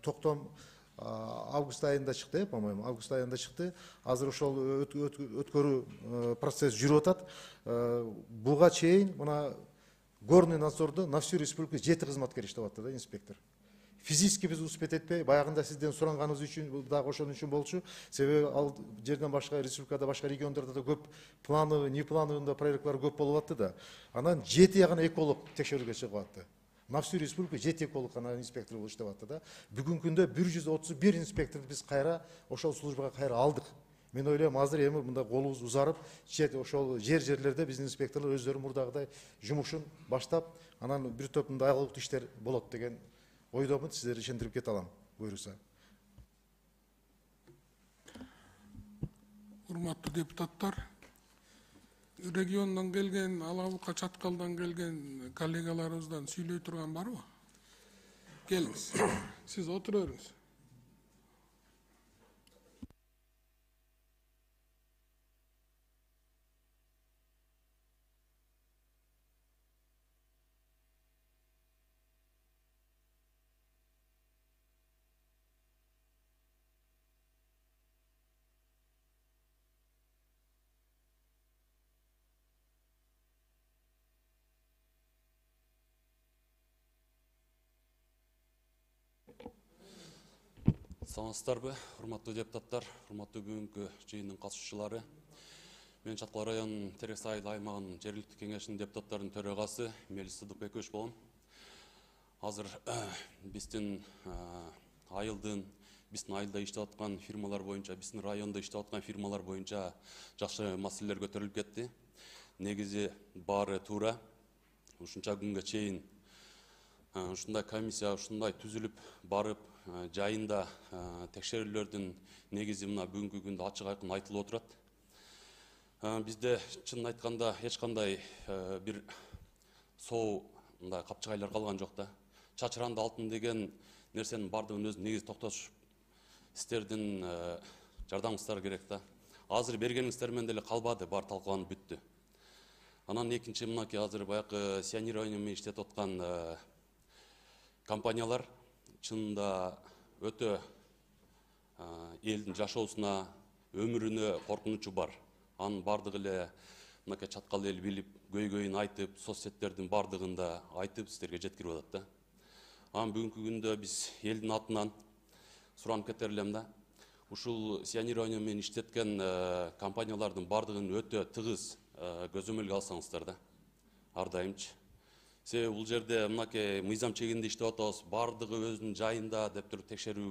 Токтом август айында чыкты, по-моему, август айында чыкты. Азыр ошол өткөрүү процесс жүрүп атат. Буга чейин мына горный надзордо на всю республику 7 кызматкер иштеп атты да, инспектор. Физически биз успеть этпей, баягында сизден суранганыбыз үчүн дагы ошон үчүн болчу. Себеби ал жерден башка республикада, башка региондордо да көп плановый, неплановый проектлар көп болуп атты да. Анан 7 гана эколог текшерүүгө чыгып атты. На всю республику 7 эколог гана инспектор болуп иштеп атты да. Бүгүнкү күндө 131 инспекторду биз кайра ошол службага кайра алдык. Мен ойлойм, азыр эми мындай колубуз узарып, ошол жерлерде биздин инспекторлор өздөрү мурдагыдай жумушун баштап, анан бир топ мындай аялыктуу иштер болот деген ойдомун, сиздерди ишендирип кете алам, буйруса. урматтуу депутаттар, региондон келген, Ала Бука, Чаткалдан келген коллегаларыбыздан сүйлөй турган барбы? Келиңиз. Сиз отура бериңиз. Саламатсыздарбы, урматтуу депутаттар, урматтуу бүгүнкү жыйындын катышуучулары. Мен Чаткал районунун Терек Айыл аймагынын жергиликтүү кеңешинин депутаттарынын төрагасы Мелис Сыдыкбекович болом. Азыр биздин айылда иштеп аткан фирмалар боюнча, биздин райондо иштеп аткан фирмалар боюнча жакшы маселелер көтөрүлүп кетти. Негизи баары туура. Ушунча күнгө чейин ушундай комиссия ушундай түзүлүп барып жайында текшерүүлөрдүн негизи мына бүгүнкү күндө ачык айкын айтылып отурат. Бизде чынын айтканда эч кандай бир соо мындай капчыгайлар калган жок да. Чачыранды алтын деген нерсенин бардыгын өзү негизи токтотуш сиздердин жардамыңыздар керек да. Азыр бергениңиздер менен деле калбады, баары талкууланып бүттү. Анан экинчи мынакей азыр баягы сионирование менен иштеп аткан компаниялар чынында өтө элдин жашоосуна, өмүрүнө коркунучу бар. Анын бардыгы эле мынакей Чаткал эл билип, көйгөйүн айтып, соцсеттердин бардыгында айтып сиздерге жеткирип атат да. Анан бүгүнкү күндө биз элдин атынан суранып кетер элем да. Ушул сионирование менен иштеткен компаниялардын бардыгын өтө тыгыз көзөмөлгө алсаңыздар да. Ар дайымчы. Себеби бул жерде мынакей мыйзам чегинде иштеп атабыз, бардыгы өзүнүн жайында деп туруп текшерүү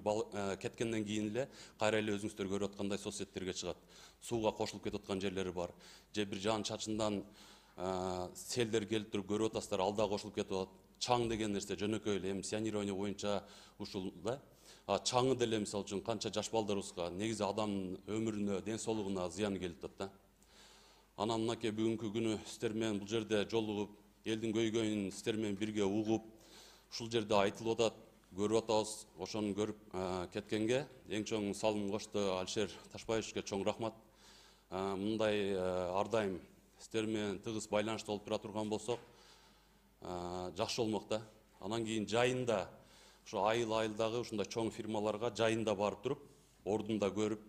кеткенден кийин эле кайра эле өзүңүздөр көрүп аткандай соцсеттерге чыгат. Сууга кошулуп кетип аткан жерлери бар. Же бир жаан чачындан селдер келип туруп көрүп атасыздар, ал да кошулуп кетип атат. Чаң деген нерсе жөнөкөй эле эми сионирование боюнча ушул да. Чаңы деле мисалы үчүн канча жаш балдарыбызга, негизи адамдын өмүрүнө, ден соолугуна зыян келип атат да. Анан мынакей бүгүнкү күнү сиздер менен бул жерде жолугуп, элдин көйгөйүн сиздер менен бирге угуп, ушул жерде айтылып атат, көрүп атабыз, ошону көрүп кеткенге эң чоң салым кошту Алишер Ташпаевичке чоң рахмат. Мындай ар дайым сиздер менен тыгыз байланышта болуп тура турган болсок, жакшы болмок да. Анан кийин жайында ушу айылдагы ушундай чоң фирмаларга жайында барып туруп, ордунда көрүп,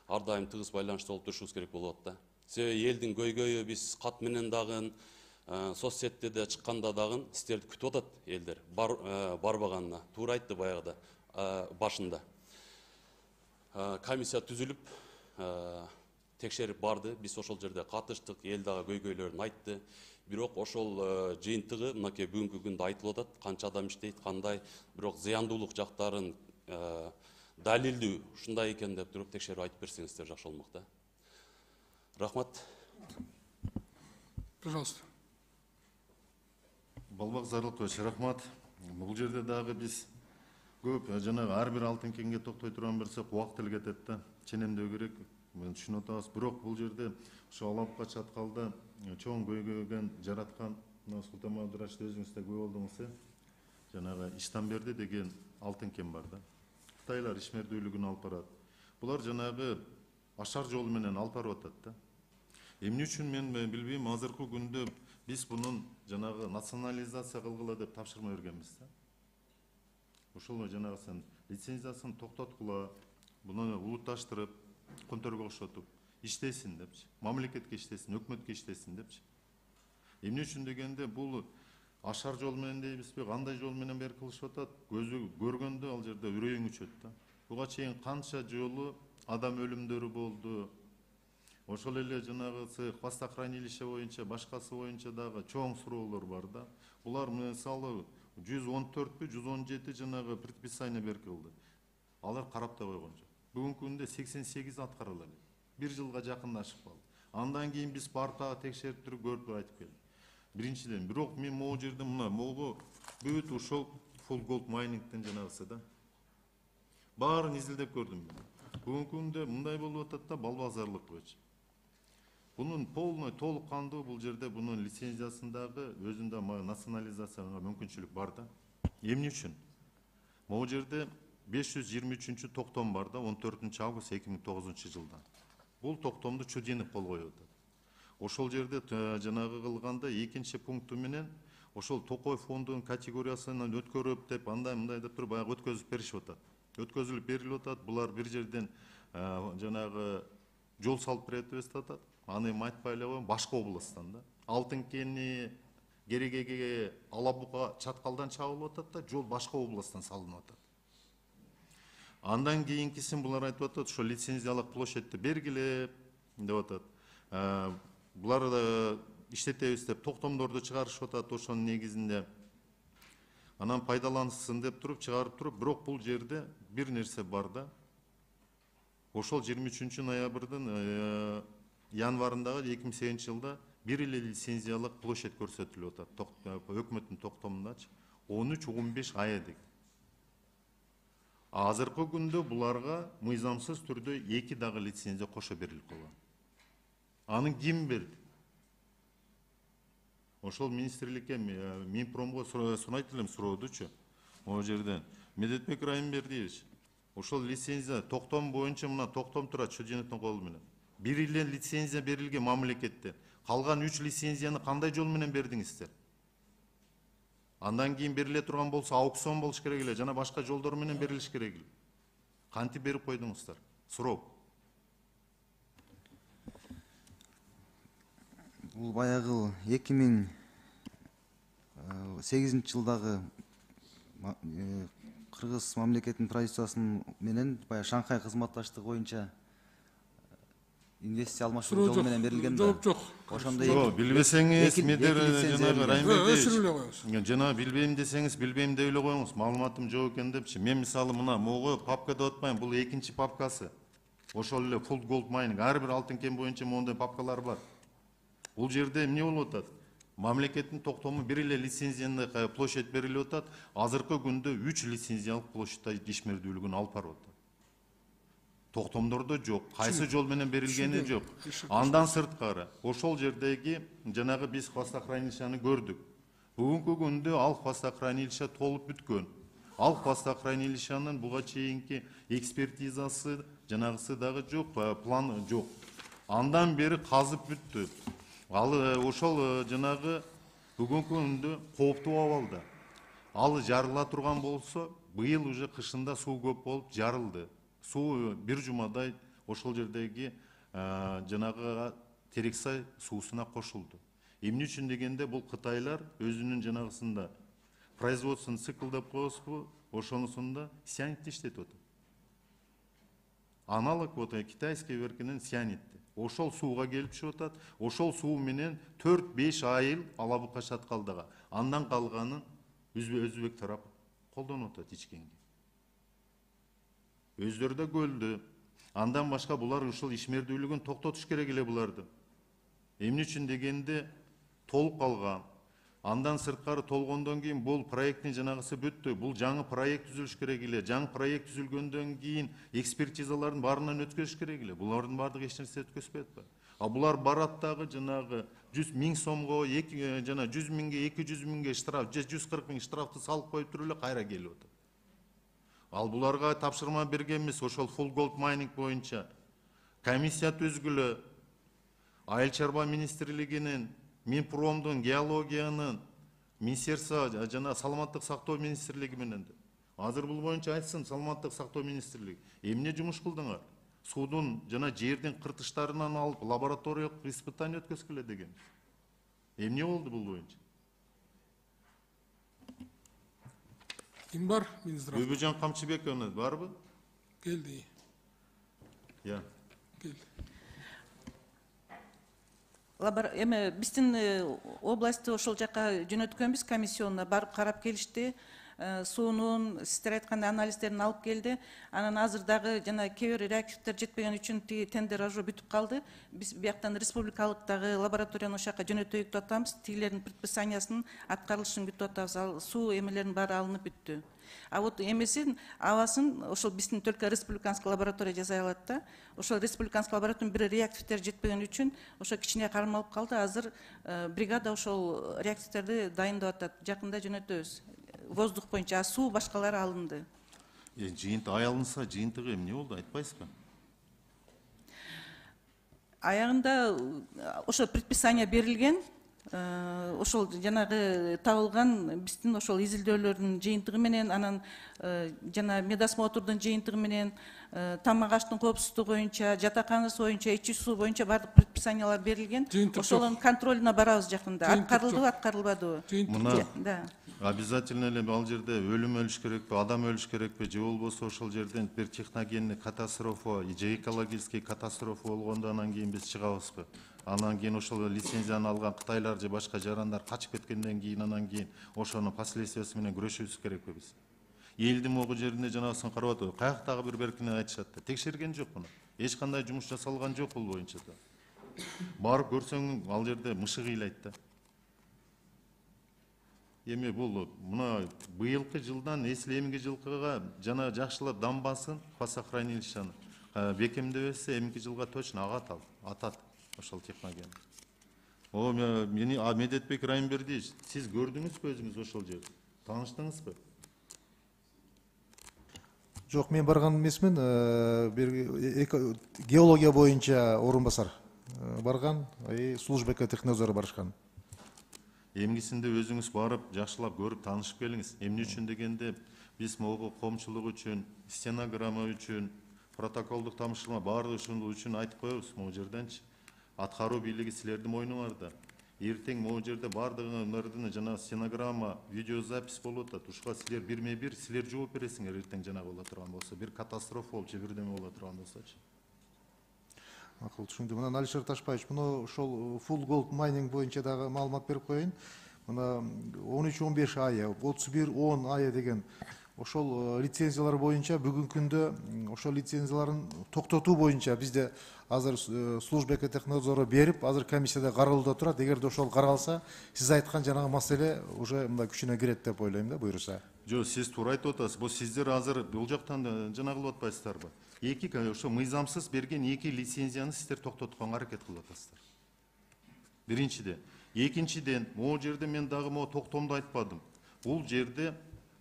ар дайым тыгыз байланышта болуп турушубуз керек болуп атат да. Себеби элдин көйгөйү биз кат менен дагы соцсетте де чыкканда дагы сиздерди күтүп атат элдер барбаганына. Туура айтты баягыда башында. Комиссия түзүлүп текшерип барды. Биз ошол жерде катыштык, эл дагы көйгөйлөрүн айтты. Бирок ошол жыйынтыгы мынакей бүгүнкү күндө айтылып атат. Канча адам иштейт, кандай, бирок зыяндуулук жактарын далилдүү ушундай экен деп туруп текшерип айтып берсеңиздер жакшы болмок да. Рахмат. Пожалуйста. Балбак Зарлыкович, рахмат. Бул жерде дагы биз көп жанагы ар бир алтын кенге токтой турган берсек убакыт эле кетет да. Ченемдөө керек. Мен түшүнүп атабыз. Бирок бул жерде ушу Ала Бука, Чаткалда чоң көйгөйгөн жараткан мына Султан Мамдурашты өзүңүз да күбө болдуңуз. Жанагы Иштанберди деген алтын кен бар да. Кытайлар ишмердүүлүгүн алып барат. Булар жанагы ашар жол менен алып барып атат да. Эмне үчүн мен билбейм, азыркы күндө биз бунун жанагы национализация кылгыла деп тапшырма бергенбиз да. Ушул жанагы сен лицензиясын токтоткула, буну улутташтырып, конторго окшотуп иштесин депчи, мамлекетке иштесин, өкмөткө иштесин депчи. Эмне үчүн дегенде бул ашар жол менен дейбизби, кандай жол менен бери кылышып атат, көзү көргөндө ал жерде үрөйүң үчөт да. Буга чейин канча жолу адам өлүмдөрү болду. Ошол эле жанагысы хвостохранилище боюнча, башкасы боюнча дагы чоң суроолор бар да. Булар мисалы 114 117 жанагы предписание берилди. Алар карап да койгон жок. Бүгүнкү күндө 88 аткарыла элек. 1 жылга жакындашып калды. Андан кийин биз барып текшерип туруп көрүп айтып келдик. Биринчиден, бирок мен могу жерде мына могу бүт ушул full gold mining жанагысы да. Баарын изилдеп көрдүм мен. Бүгүнкү күндө мындай болуп атат да, бал базарлык көч. Бунун полный, толук кандуу бул жерде бунун лицензиясындагы өзүндө национализацияга мүмкүнчүлүк бар да. Эмне үчүн? Могу жерде 523 токтом бар да, 14 август 2009 жылдан. Бул токтомду Чудинов кол коюп атат. Ошол жерде жанагы кылганда экинчи пункту менен ошол Токой фондунун категориясынан өткөрүп деп андай мындай деп туруп баягы өткөзүп беришип атат. Өткөзүлүп берилип атат. Булар бир жерден жанагы жол салып берет деп атат. Аны эми айтпай эле коеюн, башка областтан да. Алтын кени Керегеге Алабуга Чаткалдан чабылып атат да, жол башка областтан салынып атат. Андан кийинкисин булар айтып атат, ошо лицензиялык площадьти бергиле деп атат. Булар да иштетебиз деп токтомдорду чыгарышып атат ошонун негизинде. Анан пайдалансын деп туруп чыгарып туруп, бирок бул жерде бир нерсе бар да. Ошол 23 ноябрдын январындагы 2008 жылда бир эле лицензиялык площадь көрсөтүлүп атат. Өкмөттүн токтомундачы 13-15 ай деген. Азыркы күндө буларга мыйзамсыз түрдө 2 дагы лицензия кошо берилип калган. Аны ким берди? Ошол министрликке Минпромго сурайт элем суроодучу. Могу жерден Медетбек Райымбердиевич, ошол лицензия токтом боюнча мына токтом турат Чудиновдун колу менен. Бир эле лицензия берилген мамлекеттен. Калган 3 лицензияны кандай жол менен бердиңиздер? Андан кийин бериле турган болсо аукцион болуш керек эле, жана башка жолдор менен берилиш керек эле. Кантип берип койдуңуздар? Суроо. Бул баягы 2008 жылдагы Кыргыз мамлекетинин правительствосунун менен баягы Шанхай кызматташтыгы боюнча инвестиция алмашуу жолу менен берилген да. Жооп жок. Ошондо билбесеңиз медер жанагы Райымбердиевич, өчүрүп эле коебуз. жана билбейм десеңиз билбейм деп эле коюңуз. Маалыматым жок экен депчи. Мен мисалы мына могу папка деп атпайм, бул экинчи папкасы. Ошол эле Full Gold Mining ар бир алтын кен боюнча моундай папкалар бар. Бул жерде эмне болуп атат? Мамлекеттин токтому бир эле лицензияны площадь берилип атат. Азыркы күндө 3 лицензиялык площадьта ишмердүүлүгүн алып барып атат. Токтомдордо жок, кайсы жол менен берилгени жок. Андан сырткары ошол жердеги жанагы биз хвостохранилищаны көрдүк. Бүгүнкү күндө ал хвостохранилище толуп бүткөн. Ал хвостохранилищанын буга чейинки экспертизасы жанагысы дагы жок, план жок. Андан бери казып бүттү. Ал ошол жанагы бүгүнкү күндө кооптуу абалда. Ал жарыла турган болсо, быйыл уже кышында суу көп болуп жарылды. Суу бир жумадай ошол жердеги жанагы Терексай суусуна кошулду. Эмне үчүн дегенде бул кытайлар өзүнүн жанагысында производствонун цикл деп коебузбу, ошонусунда сианитти иштетип атат. Аналог вот китайский веркинин сианитти. Ошол сууга келип түшүп атат. Ошол суу менен 4-5 айыл Алабука Чаткалдага. Андан калганын өзбек тарап колдонуп атат ичкенге. Өздөрү да көлдү. Андан башка булар ушул ишмердүүлүгүн токтотуш керек эле буларды. Эмне үчүн дегенде толуп калган. Андан сырткары толгондон кийин бул проекттин жанагысы бүттү. Бул жаңы проект түзүлүш керек эле. Жаңы проект түзүлгөндөн кийин экспертизалардын баарынан өткөрүш керек эле. Булардын баардыгы эч нерсе өткөзбөй атпайбы? А булар барат дагы жанагы 100 000 сомго, жана 100 000ге, 200 000ге штраф, 140 000 штрафты салып коюп туруп эле кайра келип атат. Ал буларга тапшырма бергенбиз ошол Full Gold Mining боюнча комиссия түзгүлө, Айыл чарба министрлигинин, Минпромдун, геологиянын, Министерство жана саламаттык сактоо министрлиги менен. Азыр бул боюнча айтсын саламаттык сактоо министрлиги. Эмне жумуш кылдыңар? Суудун жана жердин кыртыштарынан алып лабораториялык испытание өткөзгүлө деген. Эмне болду бул боюнча? Ким бар министр? Өбөжан Камчыбековна барбы? Келди. Я. Келди. Эми биздин областты ошол жака жөнөткөнбүз, комиссионуна барып карап келишти. суунун сиздер айткандай анализдерин алып келди. Анан азыр дагы жана кээ бир реактивдер жетпеген үчүн тиги тендер уже бүтүп калды. Биз бияктан республикалык дагы лабораторияны ошол жака жөнөтөйүк деп атабыз. Тигилердин предписаниясынын аткарылышын күтүп атабыз. Ал суу эмелеринин баары алынып бүттү. А вот эмесин абасын ошол биздин только республиканский лаборатория жасай алат да. Ошол республиканский лабораториянын бир реактивдер жетпеген үчүн ошо кичине кармалып калды. Азыр бригада ошол реактивдерди дайындап атат. Жакында жөнөтөбүз. Воздух боюнча, суу башкалары алынды. Жыйынтык аялынса жыйынтыгы эмне болду айтпайсызбы? Аягында ошо предписание берилген. Ошол жанагы табылган биздин ошол изилдөөлөрдүн жыйынтыгы менен, анан жана медосмотрдун жыйынтыгы менен, тамак аштын коопсуздугу боюнча, жатаканасы боюнча, ичүү суу боюнча бардык предписаниялар берилген. Ошонун контролуна барабыз жакында. Аткарылдыбы, аткарылбадыбы? Мына обязательно эле ал жерде өлүм өлүш керекпи, адам өлүш керекпи, же болбосо ошол жерден бир техногенный катастрофа, же экологический катастрофа болгондо анан кийин биз чыгабызбы? Анан кийин ошол лицензияны алган кытайлар же башка жарандар качып кеткенден кийин анан кийин ошонун последствиясы менен күрөшүбүз керекпи биз? Элдин могу жеринде жанагысын карап атабыз. Каяктагы бир беркине айтышат да. Текшерген жок муну. Эч кандай жумуш жасалган жок бул боюнча да. Барып көрсөң ал жерде мышык ыйлайт да. Эми бул мына быйылкы жылдан эмки жылкыга жана жакшылап дамбасын хвостохранилищаны бекемдебесе эмки жылга точно атат ошол технология. Медетбек Райымбердиевич, сиз көрдүңүзбү өзүңүз ошол жерди? Тааныштыңызбы? Жок, мен барган эмесмин. Бир геология боюнча орун басар барган, служба экотехнадзора барышкан. Эмгисинде өзүңүз барып, жакшылап көрүп, таанышып келиңиз. Эмне үчүн дегенде, биз могу коомчулук үчүн, стенограмма үчүн, протоколдук тамыштырма баардыгы үчүн айтып коебуз могу жерденчи. Аткаруу бийлиги силердин мойнуңарда. Эртең могу жерде баардыгыңардын жана стенограмма, видеозапись болуп атат. Ушуга силер бирме-бир силер жооп бересиңер эртең жанагы боло турган болсо, бир катастрофа болуп же бирдеме боло турган болсочу. Макул, түшүндүм. Мына Алишер Ташпаевич, муну ошол full gold mining боюнча дагы маалымат берип коеюн. Мына 13-15 айы, 31-10 айы деген ошол лицензиялар боюнча бүгүнкү күндө ошол лицензияларын токтотуу боюнча бизде азыр служба экотехнадзору берип, азыр комиссияда каралууда турат. Эгерде ошол каралса, сиз айткан жанагы маселе уже мындай күчүнө кирет деп ойлойм да, буйруса. Жок, сиз туура айтып атасыз. Бул сиздер азыр бул жактан жана кылып атпайсыздарбы? Ошо мыйзамсыз берген 2 лицензияны сиздер токтотконго аракет кылып атасыздар. Биринчиден. Экинчиден, могу жерде мен дагы могу токтомду айтпадым. Бул жерде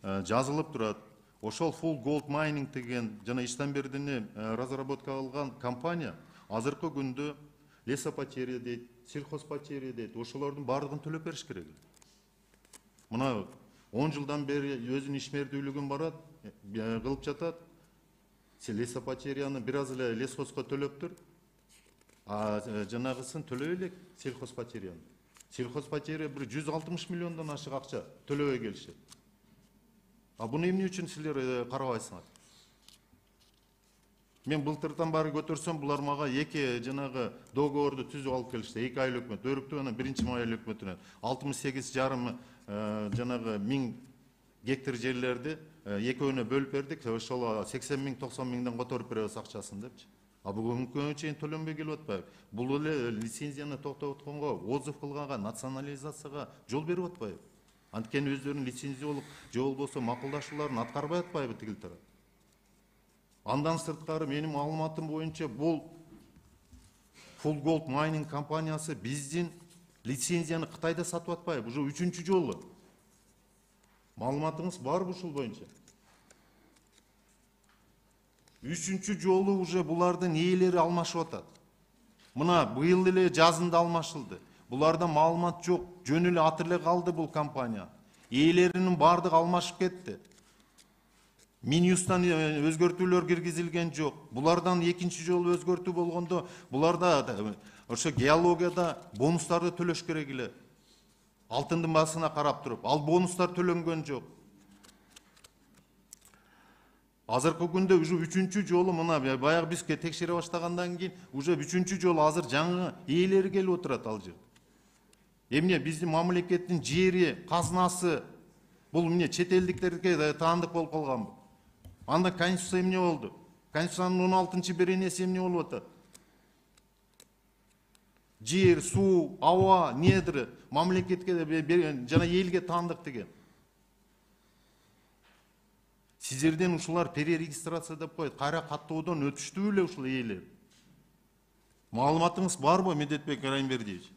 жазылып турат. Ошол full gold mining деген жана Иштанбердини разработка кылган компания азыркы күндө лесопотерия дейт, сельхозпотерия дейт. Ошолордун баардыгын төлөп бериш керек. Мына 10 жылдан бери өзүнүн ишмердүүлүгүн барат, кылып жатат. Лесопотерияны бир аз эле лесхозго төлөптүр. А жанагысын төлөбөй элек сельхозпотерияны. Сельхозпотерия бир 160 миллиондон ашык акча төлөбөй келишет. А буну эмне үчүн силер карабайсыңар? Мен былтырдан бары көтөрсөм, булар мага 2 жанагы договорду түзүп алып келишти. 2 ай өкмөт өрүктү, анан 1-май өкмөтүнөн 68,5 жанагы 1000 гектар жерлерди экөөнө бөлүп бердик. Ошол 80 миң, 90 миңден которуп беребиз акчасын депчи. А бүгүнкү күнгө чейин төлөнбөй келип атпайбы? Бул эле лицензияны токтотконго, отзыв кылганга, национализацияга жол берип атпайбы? Анткени өздөрүнүн лицензиялык же болбосо макулдашууларын аткарбай атпайбы тигил тарап? Андан сырткары менин маалыматым боюнча бул Full Gold Mining компаниясы биздин лицензияны Кытайда сатып атпайбы? Уже 3-чү жолу. Маалыматыңыз барбы ушул боюнча? 3-чү жолу уже булардын ээлери алмашып атат. Мына быйыл эле жазында алмашылды. Буларда маалымат жок, жөн эле аты эле калды бул компания. Ээлеринин бардыгы алмашып кетти. Минюстан өзгөртүүлөр киргизилген жок. Булардан 2-чи жолу өзгөртүү болгондо, буларда ошо геологияда бонустарды төлөш керек эле. Алтындын басына карап туруп, ал бонустар төлөнгөн жок. Азыркы күндө уже 3-чү жолу мына баягы биз текшере баштагандан кийин уже 3-чү жолу азыр жаңы ээлери келип отурат ал жер. Эмне биздин мамлекеттин жери, казнасы Бул эмне чет элдиктерге таандык болуп калганбы? Анда конституция эмне болду? Конституциянын 16-беренеси эмне болуп атат? Жер, суу, аба, недр мамлекетке жана элге таандык деген. Сиздерден ушулар перерегистрация деп коет. Кайра каттоодон өтүштү беле ушул ээлер? Маалыматыңыз барбы, Медетбек Райымбердиевич?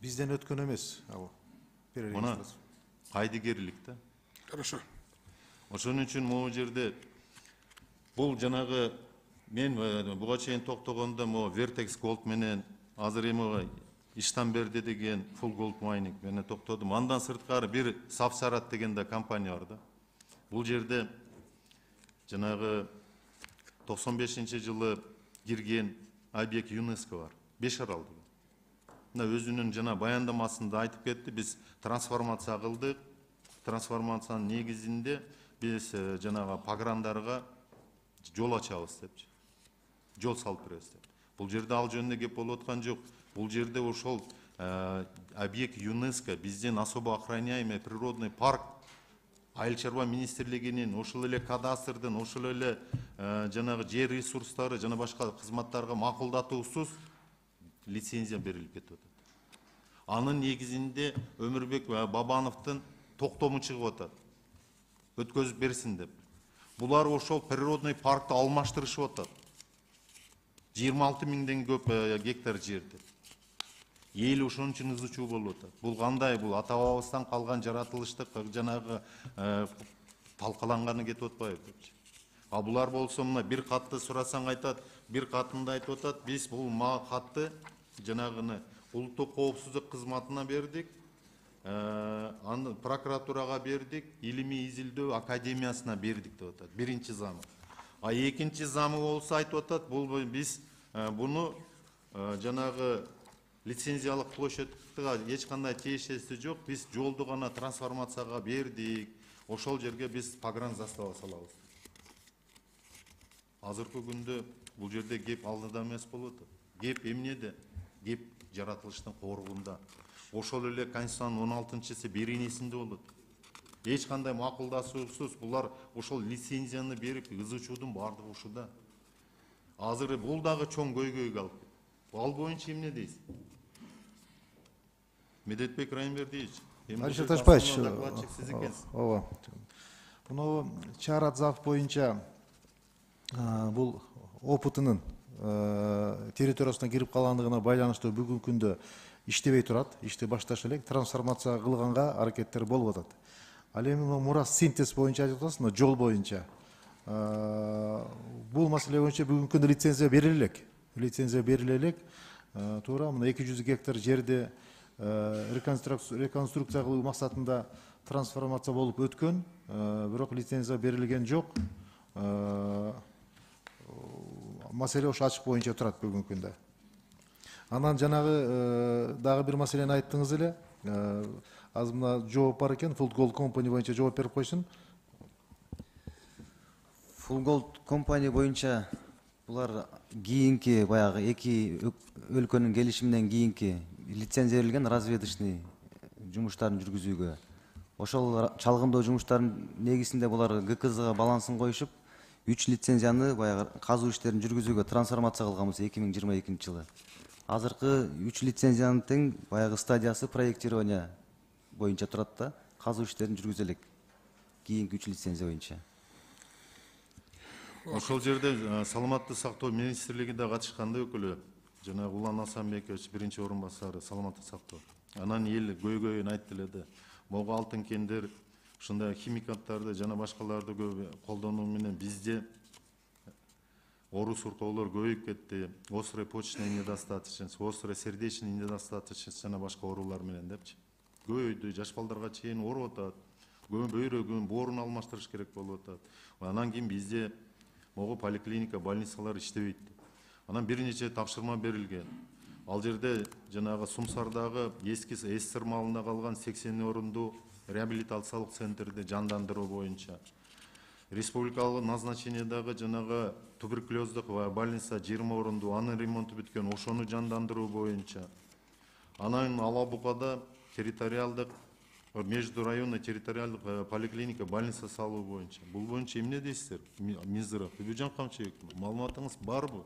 Бизден өткөн эмес ал. Мына кайдыгерлик да. Хорошо. Ошон үчүн могу жерде бул жанагы мен буга чейин токтогондо могу Vertex Gold менен азыр эми Иштанберди деген Full Gold Mining менен токтодум. Андан сырткары бир Сафсарат деген да компания бар да. Бул жерде жанагы 95-жылы кирген объект ЮНЕСКО бар. Бешарал деген. Мына өзүнүн жана баяндамасында айтып кетти, биз трансформация кылдык. Трансформациянын негизинде биз жанагы пограндарга жол ачабыз депчи. Жол салып беребиз деп. Бул жерде ал жөнүндө кеп болуп аткан жок. Бул жерде ошол объект ЮНЕСКО бизден особо охраняемый природный парк Айыл чарба министрлигинин, ошол эле кадастрдын, ошол эле жанагы жер ресурстары жана башка кызматтарга макулдатуусуз лицензия берилип кетип атат. Анын негизинде Өмүрбек Бабановдун токтому чыгып атат. Өткөзүп берсин деп. Булар ошол природный паркты алмаштырышып атат. 26 миңден көп гектар жерди. Эл ошон үчүн ызы-чуу болуп атат. Бул кандай? Бул ата бабабыздан калган жаратылыштык жанагы талкаланганы кетип атпайбы депчи. А булар болсо мына бир катты сурасаң айтат, бир катында айтып атат, биз бул катты жанагыны улуттук коопсуздук кызматына бердик, аны прокуратурага бердик, илимий изилдөө академиясына бердик деп атат. Биринчи замы. А экинчи замы болсо айтып атат, бул биз буну жанагы лицензиялык площадьга эч кандай тиешеси жок, биз жолду гана трансформацияга бердик. Ошол жерге биз погран застава салабыз. Азыркы күндө бул жерде кеп алдыда эмес болуп атат. Кеп эмнеде? Кеп жаратылыштын коргунда. Ошол эле Конституциянын 16-сы беренесинде болот. Эч кандай макулдашуусуз булар ошол лицензияны берип, ызы-чуудун бардыгы ушуда. Азыр бул дагы чоң көйгөйгө алып. Ал боюнча эмне дейсиз? Медетбек Райымбердиевич, Алишер Ташпаевич, ооба. Муну чаар зав боюнча бул опытынын территориясына кирип калгандыгына байланыштуу бүгүнкү күндө иштебей турат, ишти башташ элек, трансформация кылганга аракеттер болуп атат. Ал эми мурас синтез боюнча айтып атасыз, жол боюнча. Бул маселе боюнча бүгүнкү күндө лицензия бериле элек. Лицензия бериле элек. Туура мына 200 гектар жерде реконструкция кылуу максатында трансформация болуп өткөн, бирок лицензия берилген жок. Маселе ошо ачык боюнча турат бүгүнкү күндө. Анан жанагы дагы бир маселени айттыңыз эле. Азыр мына жооп бар экен, Full Gold Company боюнча жооп берип койсун. Full Gold Company боюнча булар кийинки баягы эки өлкөнүн келишиминен кийинки лицензия берилген разведочный жумуштарын жүргүзүүгө. Ошол чалгындоо жумуштарынын негизинде булар ГКЗга балансын коюшуп, 3 лицензияны баягы казуу иштерин жүргүзүүгө трансформация кылганбыз 2022 жылы. Азыркы 3 лицензиянын тең баягы стадиясы проектирование боюнча турат да, казуу иштерин жүргүзө элек. Кийинки 3 лицензия боюнча. Ошол жерде саламаттык сактоо министрлигинде катышканда өкүлү жана Улан Асанбекович биринчи орун басары саламаттык сактоо. Анан эл көйгөйүн айтты эле да. Могу алтын кендер ушундай химикаттарды жана башкаларды көп колдонуу менен бизде оору суркоолор көбөйүп кетти. Острый почечный недостаточность, острый сердечный недостаточность жана башка оорулар менен депчи. Көбөйдү, жаш балдарга чейин ооруп атат. Бөйрөгүн, боорун алмаштырыш керек болуп атат. Анан кийин бизде могу поликлиника, больницалар иштебейт. Анан бир нече тапшырма берилген. Ал жерде жанагы Сумсардагы эски СССР малында калган 80 орундуу реабилитациялык центрди жандандыруу боюнча, республикалык назначениедагы жанагы туберкулездук больница 20 орундуу, анын ремонту бүткөн, ошону жандандыруу боюнча. Анан Ала Букада территориалдык междурайонный территориалдык поликлиника больница салуу боюнча. Бул боюнча эмне дейсиздер? Мизыров, Бүбүжан Камчыбек, маалыматыңыз барбы?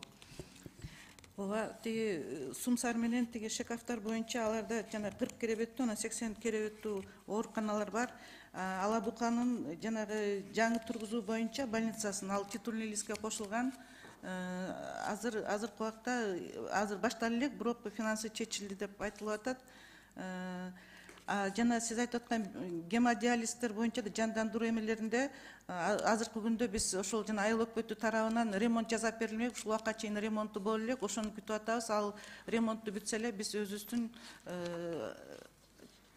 Ооба, тиги Сумсар менен тиги Шекафтар боюнча аларда жана 40 керебеттүү, анан 80 керебеттүү ооруканалар бар. Ала Буканын жанагы жаңы тургузуу боюнча больницасын ал титульный листке кошулган. Азыркы убакта азыр башталып элек, бирок финансы чечилди деп айтылып атат. Жана сиз айтып аткан гемодиализдер боюнча да жандандыруу эмелеринде азыркы күндө биз ошол жана айыл өкмөтү тарабынан ремонт жасап берилмек, ушул убакка чейин ремонту боло элек, ошону күтүп атабыз. Ал ремонту бүтсө эле биз өзүбүздүн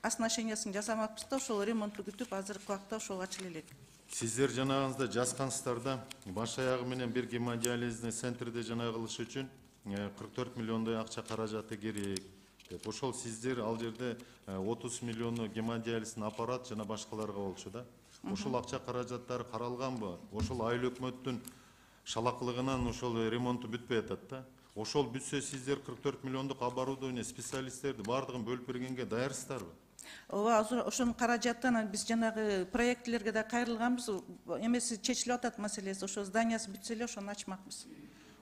оснащениясын жасамакпыз да, ошол ремонтту күтүп азыркы убакта ошол ачыла элек. Сиздер жанагыңызда жазгансыздар да, баш аягы менен бир гемодиализдик центрде жанагы кылыш үчүн 44 миллиондой акча каражаты керек деп. Ошол сиздер ал жерде 30 миллиону гемодиализдин аппарат жана башкаларга болчу да. Ошол акча каражаттары каралганбы? Ошол айыл өкмөттүн шалакылыгынан ошол ремонту бүтпөй атат да. Ошол бүтсө сиздер 44 миллиондук оборудование, специалисттерди бардыгын бөлүп бергенге даярсыздарбы? Ооба, ошонун каражаты анан биз жанагы проектлерге да кайрылганбыз. Эмеси чечилип атат маселеси. Ошо зданиясы бүтсө эле ошону ачмакпыз.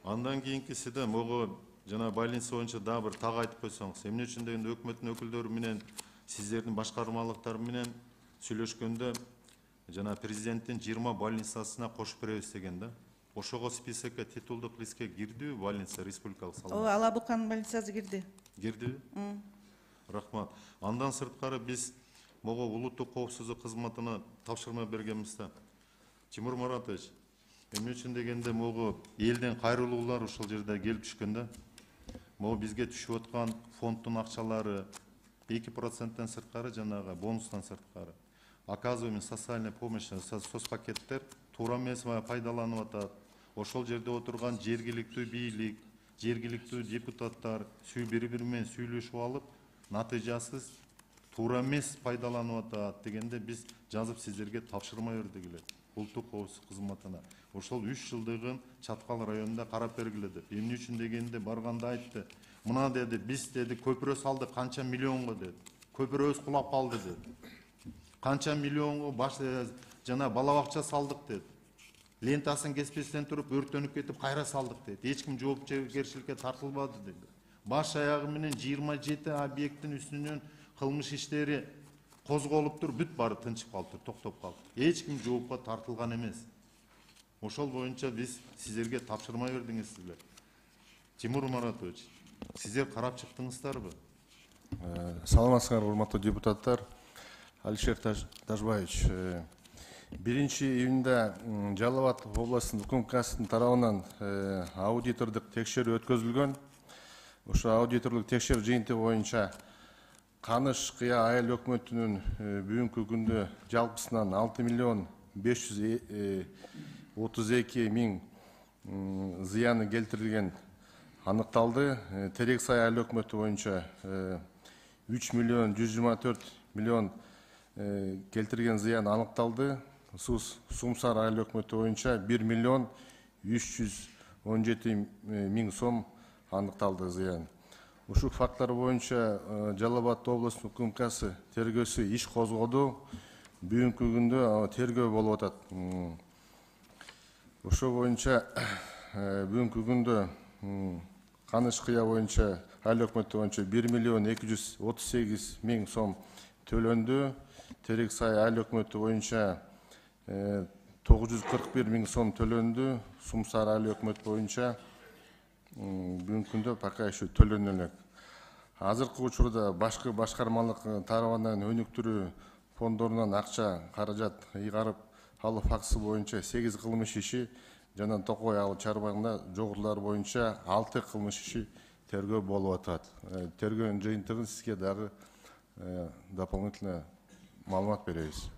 Андан кийинкиси да могу жана больница боюнча дагы бир так айтып койсоңуз. Эмне үчүн дегенде өкмөттүн өкүлдөрү менен сиздердин башкармалыктар менен сүйлөшкөндө жана президенттин 20 больницасына кошуп беребиз деген да. Ошого списокко титулдук листке кирдиби больница республикалык салымы? Ооба, Ала Буканын больницасы кирди. Кирдиби? Рахмат. Андан сырткары биз могу улуттук коопсуздук кызматына тапшырма бергенбиз да. Тимур Маратович, эмне үчүн дегенде могу элден кайрылуулар ушул жерде келип түшкөн да. Могу бизге түшүп аткан фонддун акчалары 2%тен сырткары жанагы бонустан сырткары оказываемый социальная помощь, соцпакеттер туура эмес пайдаланып атат. Ошол жерде отурган жергиликтүү бийлик, жергиликтүү депутаттар бири-бири менен сүйлөшүп алып, натыйжасыз туура эмес пайдаланып атат дегенде биз жазып сиздерге тапшырма бердик эле улуттук коопсуздук кызматына. Ошол 3 жылдыгын Чаткал районунда карап бергиле деп. Эмне үчүн дегенде барганда айтты. Мына деди, биз деди көпүрө салдык канча миллионго деди. Көпүрөбүз кулап калды деди. Канча миллионго баш жана бала бакча салдык деди. Лентасын кеспестен туруп өрттөнүп кетип кайра салдык деди. Эч ким жоопкерчиликке тартылбады деди. Баш аягы менен 27 объекттин үстүнөн кылмыш иштери козголуп туруп бүт баары тынчып калды, токтоп калды. Эч ким жоопко тартылган эмес. Ошол боюнча биз сиздерге тапшырма бердиңиздер. Тимур Маратович, сиздер карап чыктыңыздарбы? Саламатсыздар, урматтуу депутаттар. Алишер Тажбаевич, 1-июнда Жалал Абад областынын УКМКсынын тарабынан аудитордук текшерүү өткөзүлгөн. Ошо аудиторлук текшерүү жыйынтыгы боюнча Каныш Кыя айыл өкмөтүнүн бүгүнкү күндө жалпысынан 6 миллион 532 миң зыяны келтирилген аныкталды. Терек Сай айыл өкмөтү боюнча 3 миллион 124 миллион келтирген зыян аныкталды. Сумсар айыл өкмөтү боюнча 1 миллион 317 миң сом аныкталды зыян. Ушул факттар боюнча Жалал Абад областынын УКМКсы тергөөсү иш козгоду. Бүгүнкү күндө тергөө болуп атат. Ошол боюнча бүгүнкү күндө Каныш Кыя боюнча айыл өкмөтү боюнча 1 миллион 238 миң сом төлөндү. Терек Сай айыл өкмөтү боюнча 941 миң сом төлөндү. Сумсар айыл өкмөтү боюнча бүгүнкү күндө пока еще төлөнө элек. Азыркы учурда башкы башкармалык тарабынан өнүктүрүү фонддорунан акча каражат ыйгарып алуу фактысы боюнча 8 кылмыш иши жана Токой айыл чарбагында жогорулар боюнча 6 кылмыш иши тергөө болуп атат. Тергөөнүн жыйынтыгын сизге дагы дополнительно маалымат беребиз.